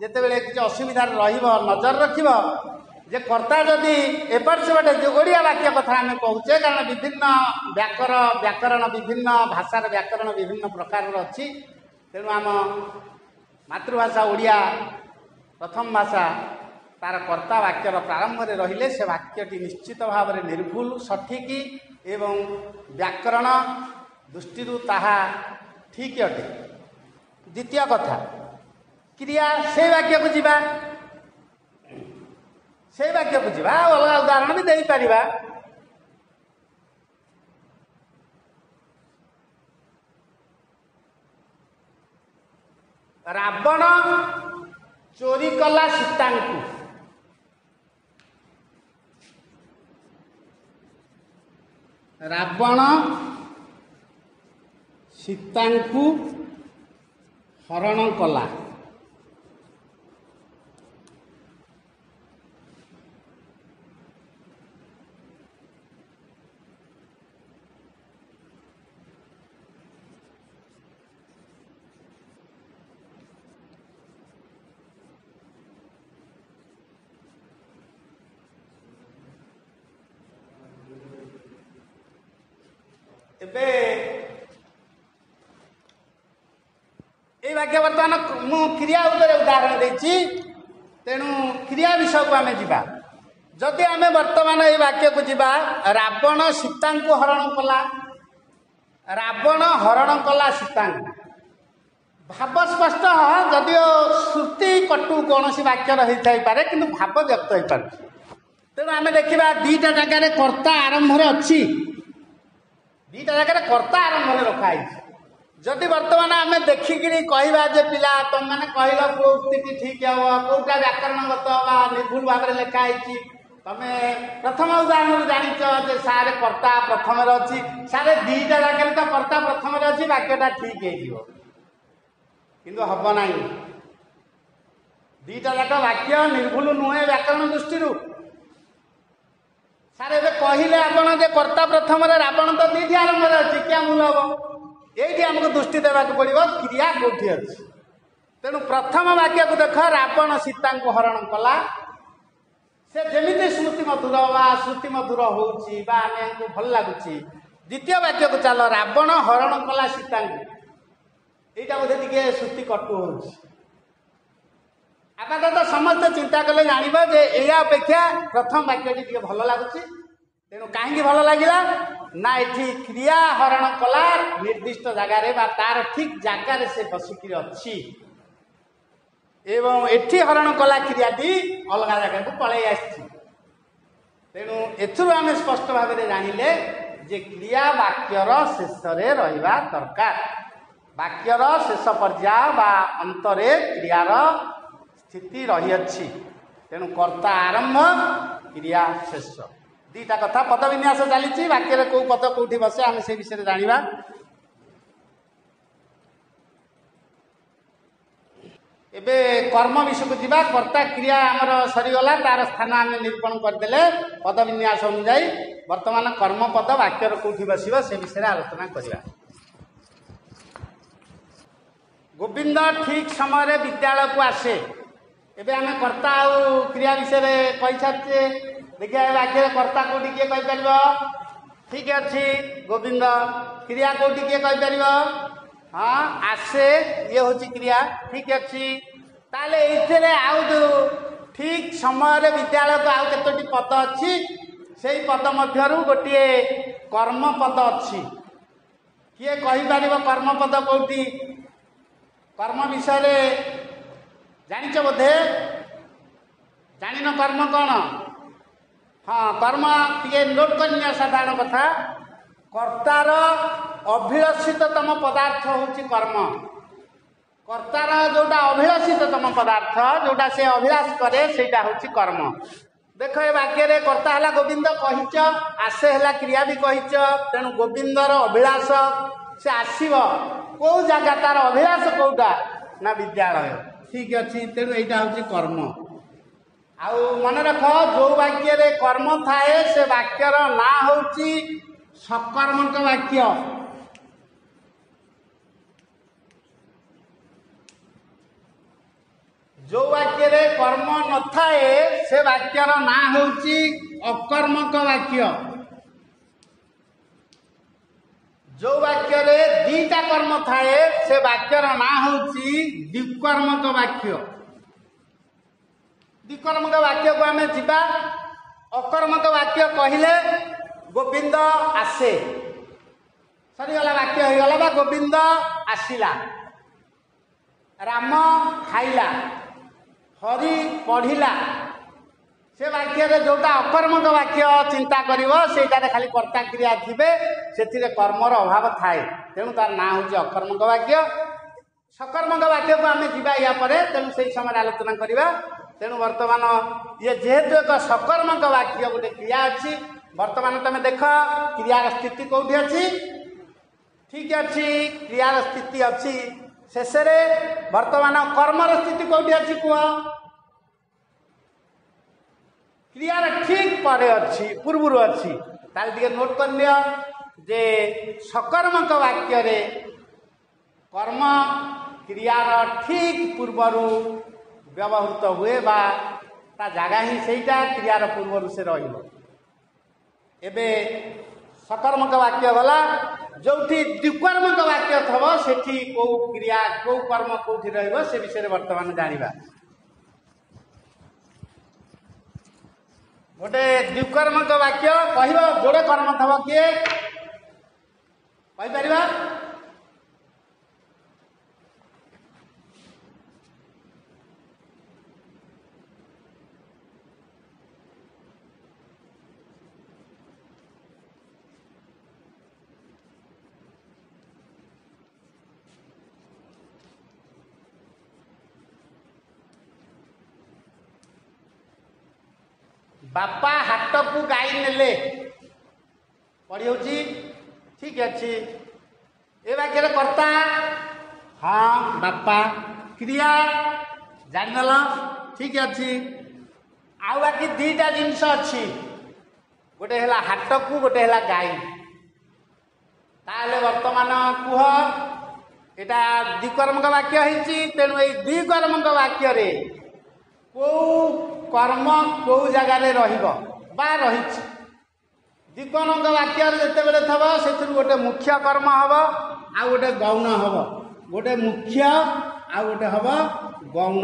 ଯେତେବେଳେ କିଛି ଅସୁବିଧାରେ ରହିବ, ନଜର ରଖିବ ଯେ କର୍ତ୍ତା ଯଦି ଏପଟ ସେପଟ, ଯେଉଁ ଓଡ଼ିଆ ବାକ୍ୟ କଥା ଆମେ କହୁଛେ, କାରଣ ବିଭିନ୍ନ ବ୍ୟାକରଣ ବିଭିନ୍ନ ଭାଷାର ବ୍ୟାକରଣ ବିଭିନ୍ନ ପ୍ରକାରର ଅଛି। ତେଣୁ ଆମ ମାତୃଭାଷା ଓଡ଼ିଆ ପ୍ରଥମ ଭାଷା, ତାର କର୍ତ୍ତା ବାକ୍ୟର ପ୍ରାରମ୍ଭରେ ରହିଲେ ସେ ବାକ୍ୟଟି ନିଶ୍ଚିତ ଭାବରେ ନିର୍ଭୁଲ, ସଠିକ ଏବଂ ବ୍ୟାକରଣ ଦୃଷ୍ଟିରୁ ତାହା ଠିକ୍ ଅଟେ। ଦ୍ୱିତୀୟ କଥା କ୍ରିୟା, ସେଇ ବାକ୍ୟକୁ ଯିବା, ସେଇ ବାକ୍ୟକୁ ଯିବା, ଆଉ ଅଲଗା ଉଦାହରଣ ବି ଦେଇପାରିବା। ରାବଣ ଚୋରି କଲା ସୀତାଙ୍କୁ। ରାବଣ ସୀତାଙ୍କୁ ହରଣ କଲା। ଏବେ ଏଇ ବାକ୍ୟ ବର୍ତ୍ତମାନ ମୁଁ କ୍ରିୟା ଉପରେ ଉଦାହରଣ ଦେଇଛି, ତେଣୁ କ୍ରିୟା ବିଷୟକୁ ଆମେ ଯିବା। ଯଦି ଆମେ ବର୍ତ୍ତମାନ ଏଇ ବାକ୍ୟକୁ ଯିବା, ରାବଣ ସୀତାଙ୍କୁ ହରଣ କଲା, ରାବଣ ହରଣ କଲା ସୀତାଙ୍କୁ। ଭାବ ସ୍ପଷ୍ଟ, ଯଦିଓ ଶ୍ରୁତି କଟୁ କୌଣସି ବାକ୍ୟର ହେଇଥାଇପାରେ, କିନ୍ତୁ ଭାବ ବ୍ୟକ୍ତ ହେଇପାରୁଛି। ତେଣୁ ଆମେ ଦେଖିବା ଦିଟା ଜାଗାରେ କର୍ତ୍ତା ଆରମ୍ଭରେ ଅଛି, ଦିଟା ଜାଗାରେ କର୍ତ୍ତା ଆରମ୍ଭରେ ରଖା ହେଇଛି। ଯଦି ବର୍ତ୍ତମାନ ଆମେ ଦେଖିକିରି କହିବା ଯେ ପିଲା ତମମାନେ କହିଲ କୋଉ ଉକ୍ତିଟି ଠିକ ହବ, କୋଉଟା ବ୍ୟାକରଣଗତ ବା ନିର୍ଭୁଲ ଭାବରେ ଲେଖା ହେଇଛି, ତମେ ପ୍ରଥମ ଉଦାହରଣରୁ ଜାଣିଛ ଯେ ସାରେ କର୍ତ୍ତା ପ୍ରଥମରେ ଅଛି, ସାରେ ଦିଟା ଜାଗାରେ ତ କର୍ତ୍ତା ପ୍ରଥମରେ ଅଛି, ବାକ୍ୟଟା ଠିକ ହେଇଯିବ। କିନ୍ତୁ ହବ ନାହିଁ, ଦିଟା ଯାକ ବାକ୍ୟ ନିର୍ଭୁଲ ନୁହେଁ ବ୍ୟାକରଣ ଦୃଷ୍ଟିରୁ। ସାର୍ ଏବେ କହିଲେ ଆପଣ ଯେ କର୍ତ୍ତା ପ୍ରଥମରେ, ରାବଣ ତ ଦିଟି ଆରମ୍ଭରେ ଅଛି, କିଆ ଭୁଲ ହବ? ଏଇଠି ଆମକୁ ଦୃଷ୍ଟି ଦେବାକୁ ପଡ଼ିବ କ୍ରିୟା କୋଉଠି ଅଛି। ତେଣୁ ପ୍ରଥମ ବାକ୍ୟକୁ ଦେଖ, ରାବଣ ସୀତାଙ୍କୁ ହରଣ କଲା। ସେ ଯେମିତି ସ୍ମୃତି ମଧୁର ବା ଶ୍ରୁତି ମଧୁର ହଉଛି ବା ଆମକୁ ଭଲ ଲାଗୁଛି। ଦ୍ୱିତୀୟ ବାକ୍ୟକୁ ଚାଲ, ରାବଣ ହରଣ କଲା ସୀତାଙ୍କୁ, ଏଇଟା ବୋଧେ ଟିକେ ଶ୍ରୁତି କଟୁ ହଉଛି। ଆପାତତଃ ସମସ୍ତେ ଚିନ୍ତା କଲେ ଜାଣିବ ଯେ ଏଇଆ ଅପେକ୍ଷା ପ୍ରଥମ ବାକ୍ୟଟି ଟିକେ ଭଲ ଲାଗୁଛି। ତେଣୁ କାହିଁକି ଭଲ ଲାଗିଲା ନା ଏଠି କ୍ରିୟା ହରଣ କଲା ନିର୍ଦ୍ଦିଷ୍ଟ ଜାଗାରେ ବା ତାର ଠିକ ଜାଗାରେ ସେ ବସିକିରି ଅଛି, ଏବଂ ଏଠି ହରଣ କଲା କ୍ରିୟାଟି ଅଲଗା ଜାଗାକୁ ପଳେଇ ଆସିଛି। ତେଣୁ ଏଥିରୁ ଆମେ ସ୍ପଷ୍ଟ ଭାବରେ ଜାଣିଲେ ଯେ କ୍ରିୟା ବାକ୍ୟର ଶେଷରେ ରହିବା ଦରକାର। ବାକ୍ୟର ଶେଷ ପର୍ଯ୍ୟାୟ ବା ଅନ୍ତରେ କ୍ରିୟାର ସ୍ଥିତି ରହିଅଛି। ତେଣୁ କର୍ତ୍ତା ଆରମ୍ଭ, କ୍ରିୟା ଶେଷ, ଦିଟା କଥା। ପଦ ବିନ୍ୟାସ ଚାଲିଛି, ବାକ୍ୟରେ କୋଉ ପଦ କୋଉଠି ବସେ ଆମେ ସେ ବିଷୟରେ ଜାଣିବା। ଏବେ କର୍ମ ବିଷୟକୁ ଯିବା। କର୍ତ୍ତା କ୍ରିୟା ଆମର ସରିଗଲା, ତାର ସ୍ଥାନ ଆମେ ନିରୂପଣ କରିଦେଲେ ପଦ ବିନ୍ୟାସ ଅନୁଯାୟୀ। ବର୍ତ୍ତମାନ କର୍ମପଦ ବାକ୍ୟର କୋଉଠି ବସିବ ସେ ବିଷୟରେ ଆଲୋଚନା କରିବା। ଗୋବିନ୍ଦ ଠିକ ସମୟରେ ବିଦ୍ୟାଳୟକୁ ଆସେ। ଏବେ ଆମେ କର୍ତ୍ତା ଆଉ କ୍ରିୟା ବିଷୟରେ କହିସାରିଛେ। ଦେଖିବା ଏ ବାକ୍ୟରେ କର୍ତ୍ତା କୋଉଠି କିଏ କହିପାରିବ? ଠିକ ଅଛି, ଗୋବିନ୍ଦ। କ୍ରିୟା କୋଉଠି କିଏ କହିପାରିବ? ହଁ, ଆସେ, ଇଏ ହଉଛି କ୍ରିୟା। ଠିକ ଅଛି, ତାହେଲେ ଏଇଥିରେ ଆଉ ଯୋଉ ଠିକ ସମୟରେ ବିଦ୍ୟାଳୟକୁ ଆଉ କେତୋଟି ପଦ ଅଛି, ସେଇ ପଦ ମଧ୍ୟରୁ ଗୋଟିଏ କର୍ମପଦ ଅଛି। କିଏ କହିପାରିବ କର୍ମପଦ କୋଉଠି? କର୍ମ ବିଷୟରେ ଜାଣିଛ ବୋଧେ? ଜାଣିନ କର୍ମ କ'ଣ? ହଁ, କର୍ମ ଟିକେ ନୋଟ୍ କରିନିଅ। ସାଧାରଣ କଥା, କର୍ତ୍ତାର ଅଭିଳଷିତତମ ପଦାର୍ଥ ହେଉଛି କର୍ମ। କର୍ତ୍ତାର ଯୋଉଟା ଅଭିଳଷିତତମ ପଦାର୍ଥ, ଯୋଉଟା ସେ ଅଭିଳାଷ କରେ, ସେଇଟା ହେଉଛି କର୍ମ। ଦେଖ, ଏ ବାକ୍ୟରେ କର୍ତ୍ତା ହେଲା ଗୋବିନ୍ଦ କହିଛ, ଆସେ ହେଲା କ୍ରିୟା ବି କହିଛ। ତେଣୁ ଗୋବିନ୍ଦର ଅଭିଳାଷ, ସେ ଆସିବ କୋଉ ଜାଗା, ତାର ଅଭିଳାଷ କୋଉଟା ନା ବିଦ୍ୟାଳୟ। ଠିକ ଅଛି, ତେଣୁ ଏଇଟା ହେଉଛି କର୍ମ। ଆଉ ମନେ ରଖ, ଯୋଉ ବାକ୍ୟରେ କର୍ମ ଥାଏ ସେ ବାକ୍ୟର ନାଁ ହେଉଛି ସକର୍ମକ ବାକ୍ୟ। ଯୋଉ ବାକ୍ୟରେ କର୍ମ ନଥାଏ ସେ ବାକ୍ୟର ନାଁ ହେଉଛି ଅକର୍ମକ ବାକ୍ୟ। ଯୋଉ ବାକ୍ୟରେ ଦିଟା କର୍ମ ଥାଏ ସେ ବାକ୍ୟର ନାଁ ହେଉଛି ଦ୍ୱିକର୍ମକ ବାକ୍ୟ। ଦ୍ୱିକର୍ମକ ବାକ୍ୟକୁ ଆମେ ଯିବା। ଅକର୍ମକ ବାକ୍ୟ କହିଲେ ଗୋବିନ୍ଦ ଆସେ, ସରିଗଲା, ବାକ୍ୟ ହେଇଗଲା, ବା ଗୋବିନ୍ଦ ଆସିଲା, ରାମ ଖାଇଲା, ହରି ପଢ଼ିଲା। ସେ ବାକ୍ୟରେ ଯୋଉଟା ଅକର୍ମକ ବାକ୍ୟ ଚିନ୍ତା କରିବ ସେଇଟାରେ ଖାଲି କର୍ତ୍ତା କ୍ରିୟା ଥିବେ, ସେଥିରେ କର୍ମର ଅଭାବ ଥାଏ, ତେଣୁ ତାର ନାଁ ହେଉଛି ଅକର୍ମକ ବାକ୍ୟ। ସକର୍ମକ ବାକ୍ୟକୁ ଆମେ ଯିବା ୟା ପରେ, ତେଣୁ ସେଇ ସମୟରେ ଆଲୋଚନା କରିବା। ତେଣୁ ବର୍ତ୍ତମାନ ଇଏ ଯେହେତୁ ଏକ ସକର୍ମକ ବାକ୍ୟ, ଗୋଟେ କ୍ରିୟା ଅଛି। ବର୍ତ୍ତମାନ ତମେ ଦେଖ କ୍ରିୟାର ସ୍ଥିତି କୋଉଠି ଅଛି। ଠିକ ଅଛି, କ୍ରିୟାର ସ୍ଥିତି ଅଛି ଶେଷରେ। ବର୍ତ୍ତମାନ କର୍ମର ସ୍ଥିତି କୋଉଠି ଅଛି କୁହ? କ୍ରିୟାର ଠିକ ପରେ ଅଛି, ପୂର୍ବରୁ ଅଛି। ତାହେଲେ ଟିକେ ନୋଟ୍ କରିନିଅ ଯେ ସକର୍ମକ ବାକ୍ୟରେ କର୍ମ କ୍ରିୟାର ଠିକ ପୂର୍ବରୁ ବ୍ୟବହୃତ ହୁଏ, ବା ତା ଜାଗା ହିଁ ସେଇଟା, କ୍ରିୟାର ପୂର୍ବରୁ ସେ ରହିବ। ଏବେ ସକର୍ମକ ବାକ୍ୟ ଗଲା। ଯୋଉଠି ଦ୍ୱିକର୍ମକ ବାକ୍ୟ ଥବ ସେଠି କୋଉ କ୍ରିୟା, କୋଉ କର୍ମ କୋଉଠି ରହିବ ସେ ବିଷୟରେ ବର୍ତ୍ତମାନ ଜାଣିବା। ଗୋଟେ ଦ୍ୱିକର୍ମକ ବାକ୍ୟ କହିବ, ଯୋଡ଼େ କର୍ମ ଥବ, କିଏ କହିପାରିବା? ବାପା ହାଟକୁ ଗାଈ ନେଲେ, ପଢି ହଉଛି? ଠିକ ଅଛି। ଏ ବାକ୍ୟରେ କର୍ତ୍ତା ହଁ ବାପା, କ୍ରିୟା ଜାଣିଦେଲ, ଠିକ ଅଛି। ଆଉ ବାକି ଦିଟା ଜିନିଷ ଅଛି, ଗୋଟେ ହେଲା ହାଟକୁ, ଗୋଟେ ହେଲା ଗାଈ। ତାହେଲେ ବର୍ତ୍ତମାନ କୁହ, ଏଇଟା ଦ୍ୱିକର୍ମକ ବାକ୍ୟ ହେଇଛି, ତେଣୁ ଏଇ ଦ୍ୱିକର୍ମକ ବାକ୍ୟରେ କୋଉ କର୍ମ କୋଉ ଜାଗାରେ ରହିବ ବା ରହିଛି? ଦ୍ୱିକର୍ମକ ବାକ୍ୟରେ ଯେତେବେଳେ ଥବ ସେଥିରୁ ଗୋଟେ ମୁଖ୍ୟ କର୍ମ ହବ ଆଉ ଗୋଟେ ଗୌଣ ହବ। ଗୋଟେ ମୁଖ୍ୟ ଆଉ ଗୋଟେ ହବ ଗୌଣ।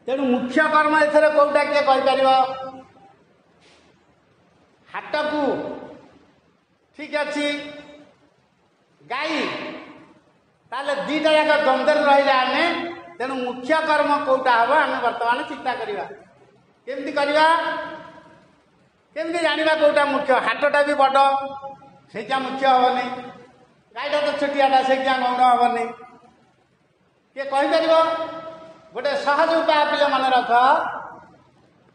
ତେଣୁ ମୁଖ୍ୟ କର୍ମ ଏଥିରେ କୋଉଟା କିଏ କହିପାରିବ? ହାଟକୁ, ଠିକ ଅଛି, ଗାଈ। ତାହେଲେ ଦିଟା ଯାକ ଦ୍ୱନ୍ଦ୍ୱରେ ରହିଲେ ଆମେ। ତେଣୁ ମୁଖ୍ୟ କର୍ମ କୋଉଟା ହବ ଆମେ ବର୍ତ୍ତମାନ ଚିନ୍ତା କରିବା। କେମିତି କରିବା, କେମିତି ଜାଣିବା କୋଉଟା ମୁଖ୍ୟ? ହାଟଟା ବି ବଡ଼, ସେଇଟା ମୁଖ୍ୟ ହବନି। ଗାଈଟା ତ ଛୋଟିଆଟା, ସେଇଟା ଗୌଣ ହବନି। କିଏ କହିପାରିବ? ଗୋଟେ ସହଜ ଉପାୟ ପିଲା ମନେ ରଖ,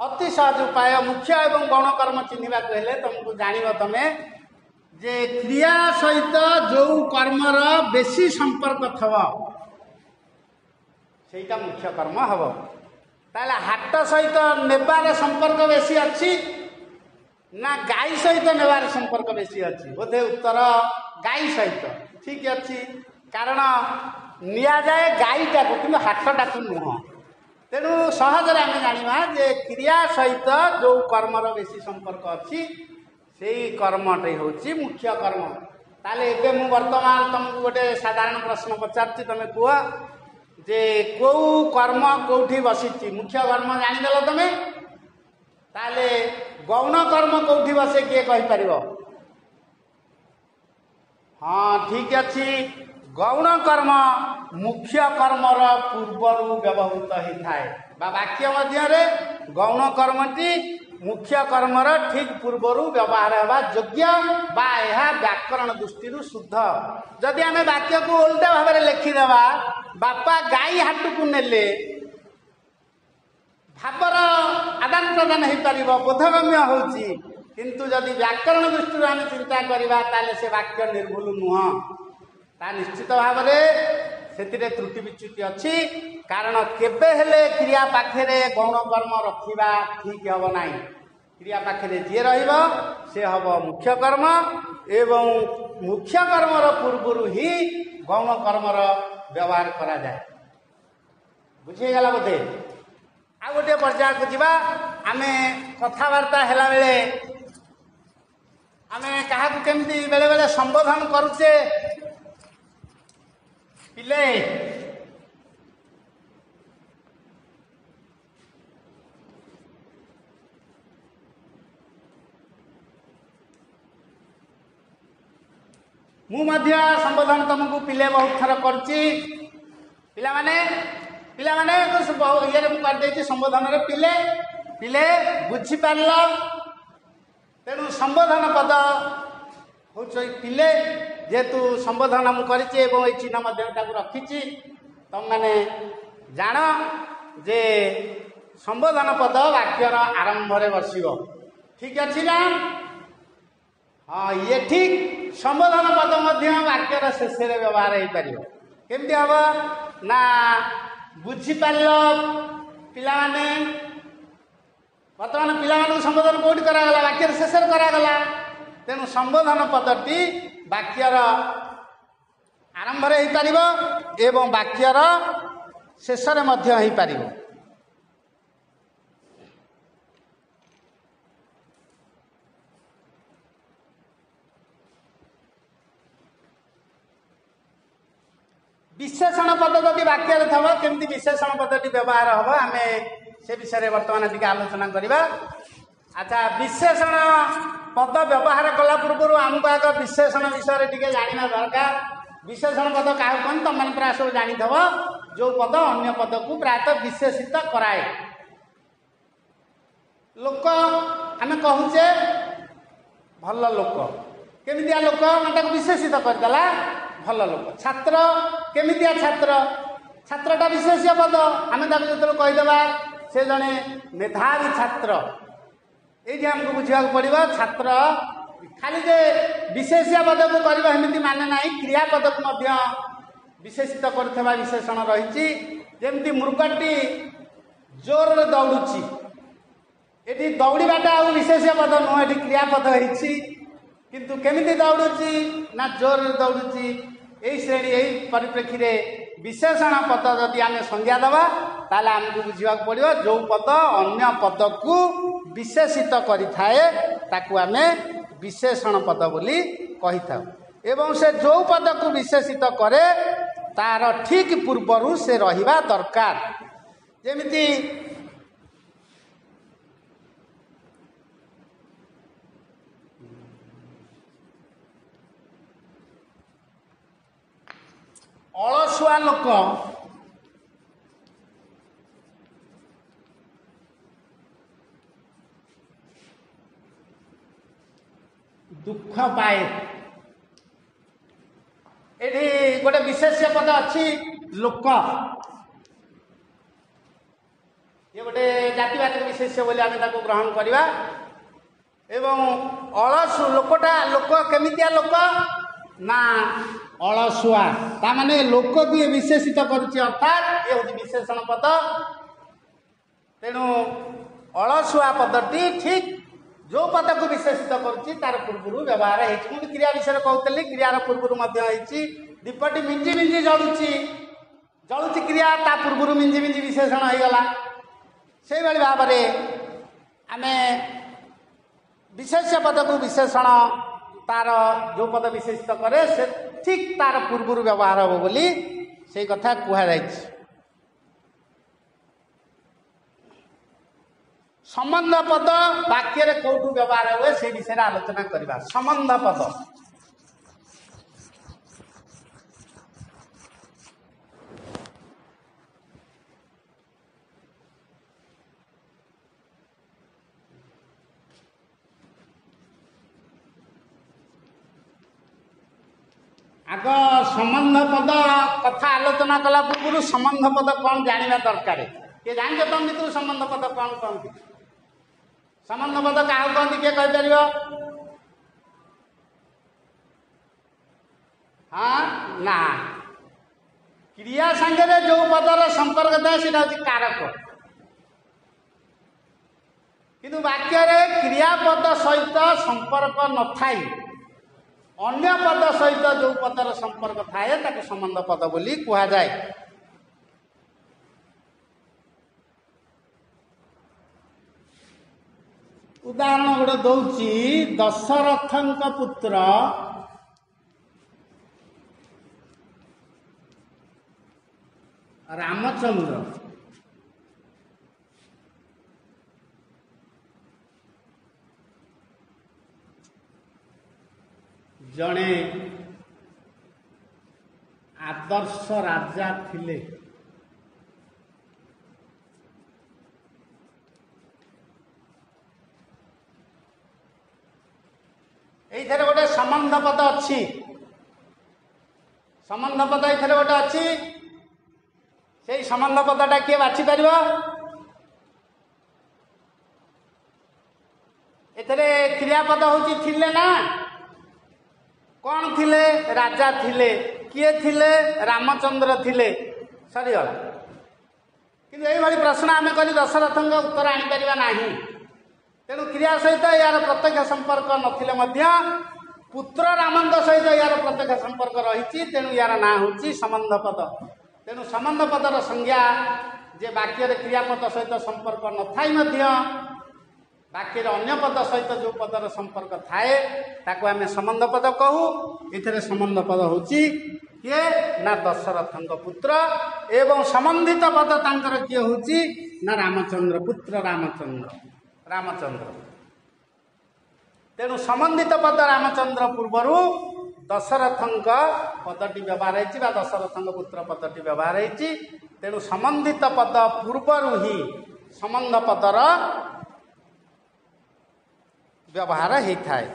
ଅତି ସହଜ ଉପାୟ। ମୁଖ୍ୟ ଏବଂ ଗୌଣ କର୍ମ ଚିହ୍ନିବାକୁ ହେଲେ ତମକୁ ଜାଣିବ ତମେ ଯେ କ୍ରିୟା ସହିତ ଯୋଉ କର୍ମର ବେଶୀ ସମ୍ପର୍କ ଥବ ସେଇଟା ମୁଖ୍ୟ କର୍ମ ହବ। ତାହେଲେ ହାଟ ସହିତ ନେବାର ସମ୍ପର୍କ ବେଶୀ ଅଛି ନା ଗାଈ ସହିତ ନେବାର ସମ୍ପର୍କ ବେଶୀ ଅଛି? ବୋଧେ ଉତ୍ତର ଗାଈ ସହିତ। ଠିକ ଅଛି, କାରଣ ନିଆଯାଏ ଗାଈଟାକୁ କିନ୍ତୁ ହାଟଟାକୁ ନୁହଁ। ତେଣୁ ସହଜରେ ଆମେ ଜାଣିବା ଯେ କ୍ରିୟା ସହିତ ଯୋଉ କର୍ମର ବେଶୀ ସମ୍ପର୍କ ଅଛି ସେଇ କର୍ମଟି ହେଉଛି ମୁଖ୍ୟ କର୍ମ। ତାହେଲେ ଏବେ ମୁଁ ବର୍ତ୍ତମାନ ତମକୁ ଗୋଟେ ସାଧାରଣ ପ୍ରଶ୍ନ ପଚାରୁଛି, ତମେ କୁହ ଯେ କୋଉ କର୍ମ କୋଉଠି ବସିଛି? ମୁଖ୍ୟ କର୍ମ ଜାଣିଦେଲ ତମେ, ତାହେଲେ ଗୌଣ କର୍ମ କୋଉଠି ବସେ କିଏ କହିପାରିବ? ହଁ, ଠିକ ଅଛି। ଗୌଣ କର୍ମ ମୁଖ୍ୟ କର୍ମର ପୂର୍ବରୁ ବ୍ୟବହୃତ ହେଇଥାଏ, ବା ବାକ୍ୟ ମଧ୍ୟରେ ଗୌଣ କର୍ମଟି ମୁଖ୍ୟ କର୍ମର ଠିକ ପୂର୍ବରୁ ବ୍ୟବହାର ହେବା ଯୋଗ୍ୟ, ବା ଏହା ବ୍ୟାକରଣ ଦୃଷ୍ଟିରୁ ଶୁଦ୍ଧ। ଯଦି ଆମେ ବାକ୍ୟକୁ ଓଲଟା ଭାବରେ ଲେଖିଦେବା, ବାପା ଗାଈ ହାଟକୁ ନେଲେ, ଭାବର ଆଦାନ ପ୍ରଦାନ ହେଇପାରିବ, ବୋଧଗମ୍ୟ ହେଉଛି, କିନ୍ତୁ ଯଦି ବ୍ୟାକରଣ ଦୃଷ୍ଟିରୁ ଆମେ ଚିନ୍ତା କରିବା ତାହେଲେ ସେ ବାକ୍ୟ ନିର୍ଭୁଲ ନୁହଁ। ତା ନିଶ୍ଚିତ ଭାବରେ ସେଥିରେ ତ୍ରୁଟି ବିଚ୍ୟୁତି ଅଛି। କାରଣ କେବେ ହେଲେ କ୍ରିୟା ପାଖରେ ଗୌଣ କର୍ମ ରଖିବା ଠିକ୍ ହେବ ନାହିଁ। କ୍ରିୟା ପାଖରେ ଯିଏ ରହିବ ସେ ହେବ ମୁଖ୍ୟ କର୍ମ, ଏବଂ ମୁଖ୍ୟ କର୍ମର ପୂର୍ବରୁ ହିଁ ଗୌଣ କର୍ମର ବ୍ୟବହାର କରାଯାଏ। ବୁଝିହେଇଗଲା ବୋଧେ? ଆଉ ଗୋଟିଏ ପର୍ଯ୍ୟାୟକୁ ଯିବା। ଆମେ କଥାବାର୍ତ୍ତା ହେଲାବେଳେ ଆମେ କାହାକୁ କେମିତି ବେଳେବେଳେ ସମ୍ବୋଧନ କରୁଛେ, ପିଲେ, ମୁଁ ମଧ୍ୟ ସମ୍ବୋଧନ ତମକୁ ପିଲେ ବହୁତ ଥର କରୁଛି। ପିଲାମାନେ, ପିଲାମାନେ ଇଏରେ ମୁଁ କରିଦେଇଛି ସମ୍ବୋଧନରେ ପିଲେ, ପିଲେ ବୁଝିପାରିଲ? ତେଣୁ ସମ୍ବୋଧନ ପଦ ହେଉଛି ପିଲେ। ଯେହେତୁ ସମ୍ବୋଧନ ମୁଁ କରିଛି ଏବଂ ଏଇ ଚିହ୍ନ ମଧ୍ୟରେ ତାକୁ ରଖିଛି, ତମମାନେ ଜାଣ ଯେ ସମ୍ବୋଧନ ପଦ ବାକ୍ୟର ଆରମ୍ଭରେ ବସିବ। ଠିକ ଅଛି ନା? ହଁ, ଇଏ ଠିକ। ସମ୍ବୋଧନ ପଦ ମଧ୍ୟ ବାକ୍ୟର ଶେଷରେ ବ୍ୟବହାର ହେଇପାରିବ। କେମିତି ହବ ନା, ବୁଝିପାରିଲ ପିଲାମାନେ? ବର୍ତ୍ତମାନ ପିଲାମାନଙ୍କୁ ସମ୍ବୋଧନ କେଉଁଠି କରାଗଲା? ବାକ୍ୟର ଶେଷରେ କରାଗଲା। ତେଣୁ ସମ୍ବୋଧନ ପଦଟି ବାକ୍ୟର ଆରମ୍ଭରେ ହେଇପାରିବ ଏବଂ ବାକ୍ୟର ଶେଷରେ ମଧ୍ୟ ହେଇପାରିବ। ବିଶେଷଣ ପଦ ଯଦି ବାକ୍ୟରେ ଥବ, କେମିତି ବିଶେଷଣ ପଦଟି ବ୍ୟବହାର ହେବ ଆମେ ସେ ବିଷୟରେ ବର୍ତ୍ତମାନ ଟିକେ ଆଲୋଚନା କରିବା। ଆଚ୍ଛା, ବିଶେଷଣ ପଦ ବ୍ୟବହାର କଲା ପୂର୍ବରୁ ଆମକୁ ଆଗ ବିଶେଷଣ ବିଷୟରେ ଟିକେ ଜାଣିବା ଦରକାର। ବିଶେଷଣ ପଦ କାହାକୁ କହନ୍ତି ତମମାନେ ପ୍ରାୟ ସବୁ ଜାଣିଥିବ। ଯେଉଁ ପଦ ଅନ୍ୟ ପଦକୁ ପ୍ରାୟତଃ ବିଶେଷିତ କରାଏ। ଲୋକ ଆମେ କହୁଛେ ଭଲ ଲୋକ, କେମିତିଆ ଲୋକ? ମାନେ ତାକୁ ବିଶେଷିତ କରିଦେଲା ଭଲ ଲୋକ। ଛାତ୍ର, କେମିତିଆ ଛାତ୍ର? ଛାତ୍ରଟା ବିଶେଷ୍ୟ ପଦ। ଆମେ ତାକୁ ଯେତେବେଳେ କହିଦେବା ସେ ଜଣେ ମେଧାବୀ ଛାତ୍ର, ଏଇଠି ଆମକୁ ବୁଝିବାକୁ ପଡ଼ିବ ଛାତ୍ର ଖାଲି ଯେ ବିଶେଷ୍ୟ ପଦକୁ କରିବ ଏମିତି ମାନେ ନାହିଁ, କ୍ରିୟାପଦକୁ ମଧ୍ୟ ବିଶେଷିତ କରୁଥିବା ବିଶେଷଣ ରହିଛି। ଯେମିତି ମୃଗଟି ଜୋରରେ ଦୌଡ଼ୁଛି, ଏଠି ଦୌଡ଼ିବାଟା ଆଉ ବିଶେଷ୍ୟ ପଦ ନୁହଁ, ଏଠି କ୍ରିୟାପଦ ହେଇଛି। କିନ୍ତୁ କେମିତି ଦୌଡ଼ୁଛି ନା ଜୋରରେ ଦୌଡ଼ୁଛି। ଏଇ ଶ୍ରେଣୀ, ଏଇ ପରିପ୍ରେକ୍ଷୀରେ ବିଶେଷଣ ପଦ ଯଦି ଆମେ ସଂଜ୍ଞା ଦେବା ତାହେଲେ ଆମକୁ ବୁଝିବାକୁ ପଡ଼ିବ ଯେଉଁ ପଦ ଅନ୍ୟ ପଦକୁ ବିଶେଷିତ କରିଥାଏ ତାକୁ ଆମେ ବିଶେଷଣ ପଦ ବୋଲି କହିଥାଉ। ଏବଂ ସେ ଯେଉଁ ପଦକୁ ବିଶେଷିତ କରେ ତାର ଠିକ୍ ପୂର୍ବରୁ ସେ ରହିବା ଦରକାର। ଯେମିତି ଅଳସୁଆ ଲୋକ ଦୁଃଖ ପାଏ, ଏଠି ଗୋଟେ ବିଶେଷ୍ୟ ପଦ ଅଛି ଲୋକ, ଇଏ ଗୋଟେ ଜାତିବାଚକ ବିଶେଷ୍ୟ ବୋଲି ଆମେ ତାକୁ ଗ୍ରହଣ କରିବା। ଏବଂ ଅଳସୁ ଲୋକଟା, ଲୋକ କେମିତିଆ ଲୋକ ନା ଅଳସୁଆ, ତା ମାନେ ଲୋକକୁ ଇଏ ବିଶେଷିତ କରୁଛି, ଅର୍ଥାତ୍ ଇଏ ହେଉଛି ବିଶେଷଣ ପଦ। ତେଣୁ ଅଳସୁଆ ପଦଟି ଠିକ୍ ଯେଉଁ ପଦକୁ ବିଶେଷିତ କରୁଛି ତାର ପୂର୍ବରୁ ବ୍ୟବହାର ହେଇଛି। ମୁଁ କ୍ରିୟା ବିଷୟରେ କହୁଥିଲି, କ୍ରିୟାର ପୂର୍ବରୁ ମଧ୍ୟ ହେଇଛି। ଦୀପଟି ମିଞ୍ଜି ମିଞ୍ଜି ଜଳୁଛି, ଜଳୁଛି କ୍ରିୟା, ତା ପୂର୍ବରୁ ମିଞ୍ଜି ମିଞ୍ଜି ବିଶେଷଣ ହେଇଗଲା। ସେଇଭଳି ଭାବରେ ଆମେ ବିଶେଷ୍ୟ ପଦକୁ ବିଶେଷଣ ତାର ଯେଉଁ ପଦ ବିଶେଷିତ କରେ ସେ ଠିକ୍ ତାର ପୂର୍ବରୁ ବ୍ୟବହାର ହେବ ବୋଲି ସେଇ କଥା କୁହାଯାଇଛି। ସମ୍ବନ୍ଧ ପଦ ବାକ୍ୟରେ କୋଉଠୁ ବ୍ୟବହାର ହୁଏ ସେଇ ବିଷୟରେ ଆଲୋଚନା କରିବା। ସମ୍ବନ୍ଧ ପଦ, ଆଗ ସମ୍ବନ୍ଧ ପଦ କଥା ଆଲୋଚନା କଲା ପୂର୍ବରୁ ସମ୍ବନ୍ଧ ପଦ କ'ଣ ଜାଣିବା ଦରକାର। କିଏ ଜାଣିଛ ତମ ଭିତରୁ ସମ୍ବନ୍ଧ ପଦ କ'ଣ କହନ୍ତି? ସମ୍ବନ୍ଧ ପଦ କାହାକୁ କହନ୍ତି କିଏ କହିପାରିବ? ହଁ ନା, କ୍ରିୟା ସାଙ୍ଗରେ ଯୋଉ ପଦର ସମ୍ପର୍କ ଥାଏ ସେଇଟା ହଉଛି କାରକ। କିନ୍ତୁ ବାକ୍ୟରେ କ୍ରିୟାପଦ ସହିତ ସମ୍ପର୍କ ନଥାଇ ଅନ୍ୟ ପଦ ସହିତ ଯୋଉ ପଦର ସମ୍ପର୍କ ଥାଏ ତାକୁ ସମ୍ବନ୍ଧ ପଦ ବୋଲି କୁହାଯାଏ। ଉଦାହରଣ ଗୋଟେ ଦଉଛି, ଦଶରଥଙ୍କ ପୁତ୍ର ରାମଚନ୍ଦ୍ର ଜଣେ ଆଦର୍ଶ ରାଜା ଥିଲେ। ଏଇଥିରେ ଗୋଟେ ସମ୍ବନ୍ଧ ପଦ ଅଛି। ସମ୍ବନ୍ଧ ପଦ ଏଇଥିରେ ଗୋଟେ ଅଛି। ସେଇ ସମ୍ବନ୍ଧ ପଦଟା କିଏ ବାଛି ପାରିବ? ଏଥିରେ କ୍ରିୟାପଦ ହଉଛି ଥିଲେ ନା, କଣ ଥିଲେ? ରାଜା ଥିଲେ। କିଏ ଥିଲେ? ରାମଚନ୍ଦ୍ର ଥିଲେ। ସରିଗଲା। କିନ୍ତୁ ଏଇଭଳି ପ୍ରଶ୍ନ ଆମେ କରି ଦଶରଥଙ୍କ ଉତ୍ତର ଆଣିପାରିବା ନାହିଁ। ତେଣୁ କ୍ରିୟା ସହିତ ଏହାର ପ୍ରତ୍ୟକ୍ଷ ସମ୍ପର୍କ ନଥିଲେ ମଧ୍ୟ ପୁତ୍ର ରାମଙ୍କ ସହିତ ଏହାର ପ୍ରତ୍ୟକ୍ଷ ସମ୍ପର୍କ ରହିଛି। ତେଣୁ ଏହାର ନାଁ ହେଉଛି ସମ୍ବନ୍ଧ ପଦ। ତେଣୁ ସମ୍ବନ୍ଧ ପଦର ସଂଜ୍ଞା ଯେ ବାକ୍ୟରେ କ୍ରିୟାପଦ ସହିତ ସମ୍ପର୍କ ନଥାଇ ମଧ୍ୟ ବାକ୍ୟରେ ଅନ୍ୟ ପଦ ସହିତ ଯେଉଁ ପଦର ସମ୍ପର୍କ ଥାଏ ତାକୁ ଆମେ ସମ୍ବନ୍ଧ ପଦ କହୁ। ଏଥିରେ ସମ୍ବନ୍ଧ ପଦ ହେଉଛି କିଏ ନା ଦଶରଥଙ୍କ ପୁତ୍ର, ଏବଂ ସମ୍ବନ୍ଧିତ ପଦ ତାଙ୍କର କିଏ ହେଉଛି ନା ରାମଚନ୍ଦ୍ର, ପୁତ୍ର ରାମଚନ୍ଦ୍ର, ରାମଚନ୍ଦ୍ର। ତେଣୁ ସମ୍ବନ୍ଧିତ ପଦ ରାମଚନ୍ଦ୍ର ପୂର୍ବରୁ ଦଶରଥଙ୍କ ପଦଟି ବ୍ୟବହାର ହେଇଛି ବା ଦଶରଥଙ୍କ ପୁତ୍ର ପଦଟି ବ୍ୟବହାର ହେଇଛି। ତେଣୁ ସମ୍ବନ୍ଧିତ ପଦ ପୂର୍ବରୁ ହିଁ ସମ୍ବନ୍ଧ ପଦର ବ୍ୟବହାର ହେଇଥାଏ।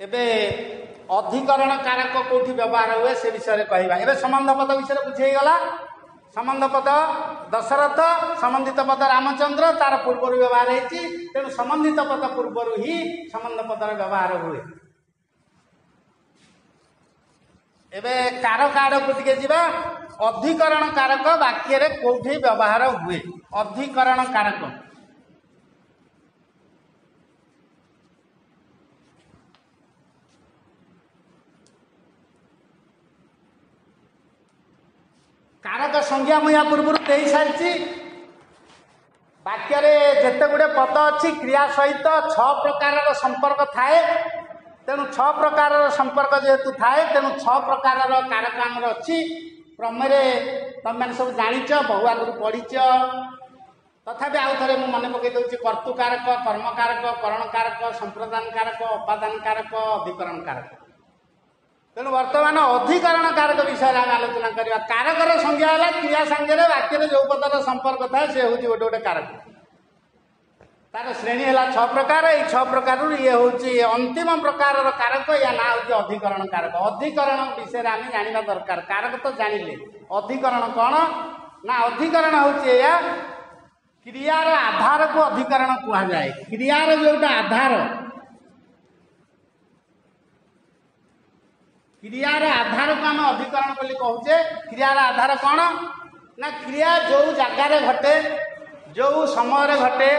ଏବେ ଅଧିକରଣ କାରକ କୋଉଠି ବ୍ୟବହାର ହୁଏ ସେ ବିଷୟରେ କହିବା। ଏବେ ସମ୍ବନ୍ଧ ପଦ ବିଷୟରେ ବୁଝି ହେଇଗଲା। ସମ୍ବନ୍ଧ ପଦ ଦଶରଥ, ସମ୍ବନ୍ଧିତ ପଦ ରାମଚନ୍ଦ୍ର, ତାର ପୂର୍ବରୁ ବ୍ୟବହାର ହେଇଛି। ତେଣୁ ସମ୍ବନ୍ଧିତ ପଦ ପୂର୍ବରୁ ହିଁ ସମ୍ବନ୍ଧ ପଦର ବ୍ୟବହାର ହୁଏ। ଏବେ କାରକ ଆଡ଼କୁ ଟିକେ ଯିବା। ଅଧିକରଣ କାରକ ବାକ୍ୟରେ କୋଉଠି ବ୍ୟବହାର ହୁଏ? ଅଧିକରଣ କାରକ କାରକ ସଂଜ୍ଞା ମୁଁ ୟା ପୂର୍ବରୁ ଦେଇ ସାରିଛି। ବାକ୍ୟରେ ଯେତେ ଗୁଡ଼ିଏ ପଦ ଅଛି କ୍ରିୟା ସହିତ 6 ପ୍ରକାରର ସମ୍ପର୍କ ଥାଏ। ତେଣୁ 6 ପ୍ରକାରର ସମ୍ପର୍କ ଯେହେତୁ ଥାଏ, ତେଣୁ 6 ପ୍ରକାରର କାରକ ଆମର ଅଛି। କ୍ରମରେ ତମେମାନେ ସବୁ ଜାଣିଛ, ବହୁ ଆଗରୁ ପଢ଼ିଛ, ତଥାପି ଆଉ ଥରେ ମୁଁ ମନେ ପକାଇ ଦେଉଛି। କର୍ତ୍ତୃକାରକ, କର୍ମକାରକ, କରଣକାରକ, ସମ୍ପ୍ରଦାନ କାରକ, ଅପାଦାନ କାରକ, ଅଧିକରଣ କାରକ। ତେଣୁ ବର୍ତ୍ତମାନ ଅଧିକରଣ କାରକ ବିଷୟରେ ଆମେ ଆଲୋଚନା କରିବା। କାରକର ସଂଜ୍ଞା ହେଲା କ୍ରିୟା ସାଙ୍ଗରେ ବାକ୍ୟରେ ଯେଉଁ ପଦର ସମ୍ପର୍କ ଥାଏ ସେ ହେଉଛି ଗୋଟେ ଗୋଟେ କାରକ। ତାର ଶ୍ରେଣୀ ହେଲା 6 ପ୍ରକାର। ଏଇ 6 ପ୍ରକାରରୁ ଇଏ ହେଉଛି ଅନ୍ତିମ ପ୍ରକାରର କାରକ। ୟା ନାଁ ହେଉଛି ଅଧିକରଣ କାରକ। ଅଧିକରଣ ବିଷୟରେ ଆମେ ଜାଣିବା ଦରକାର। କାରକ ତ ଜାଣିଲେ, ଅଧିକରଣ କ'ଣ ନା ଅଧିକରଣ ହେଉଛି ଏଇଆ, କ୍ରିୟାର ଆଧାରକୁ ଅଧିକରଣ କୁହାଯାଏ। କ୍ରିୟାର ଯୋଉଟା ଆଧାର, କ୍ରିୟାର ଆଧାରକୁ ଆମେ ଅଧିକରଣ ବୋଲି କହୁଛେ। କ୍ରିୟାର ଆଧାର କ'ଣ ନା କ୍ରିୟା ଯୋଉ ଜାଗାରେ ଘଟେ, ଯୋଉ ସମୟରେ ଘଟେ,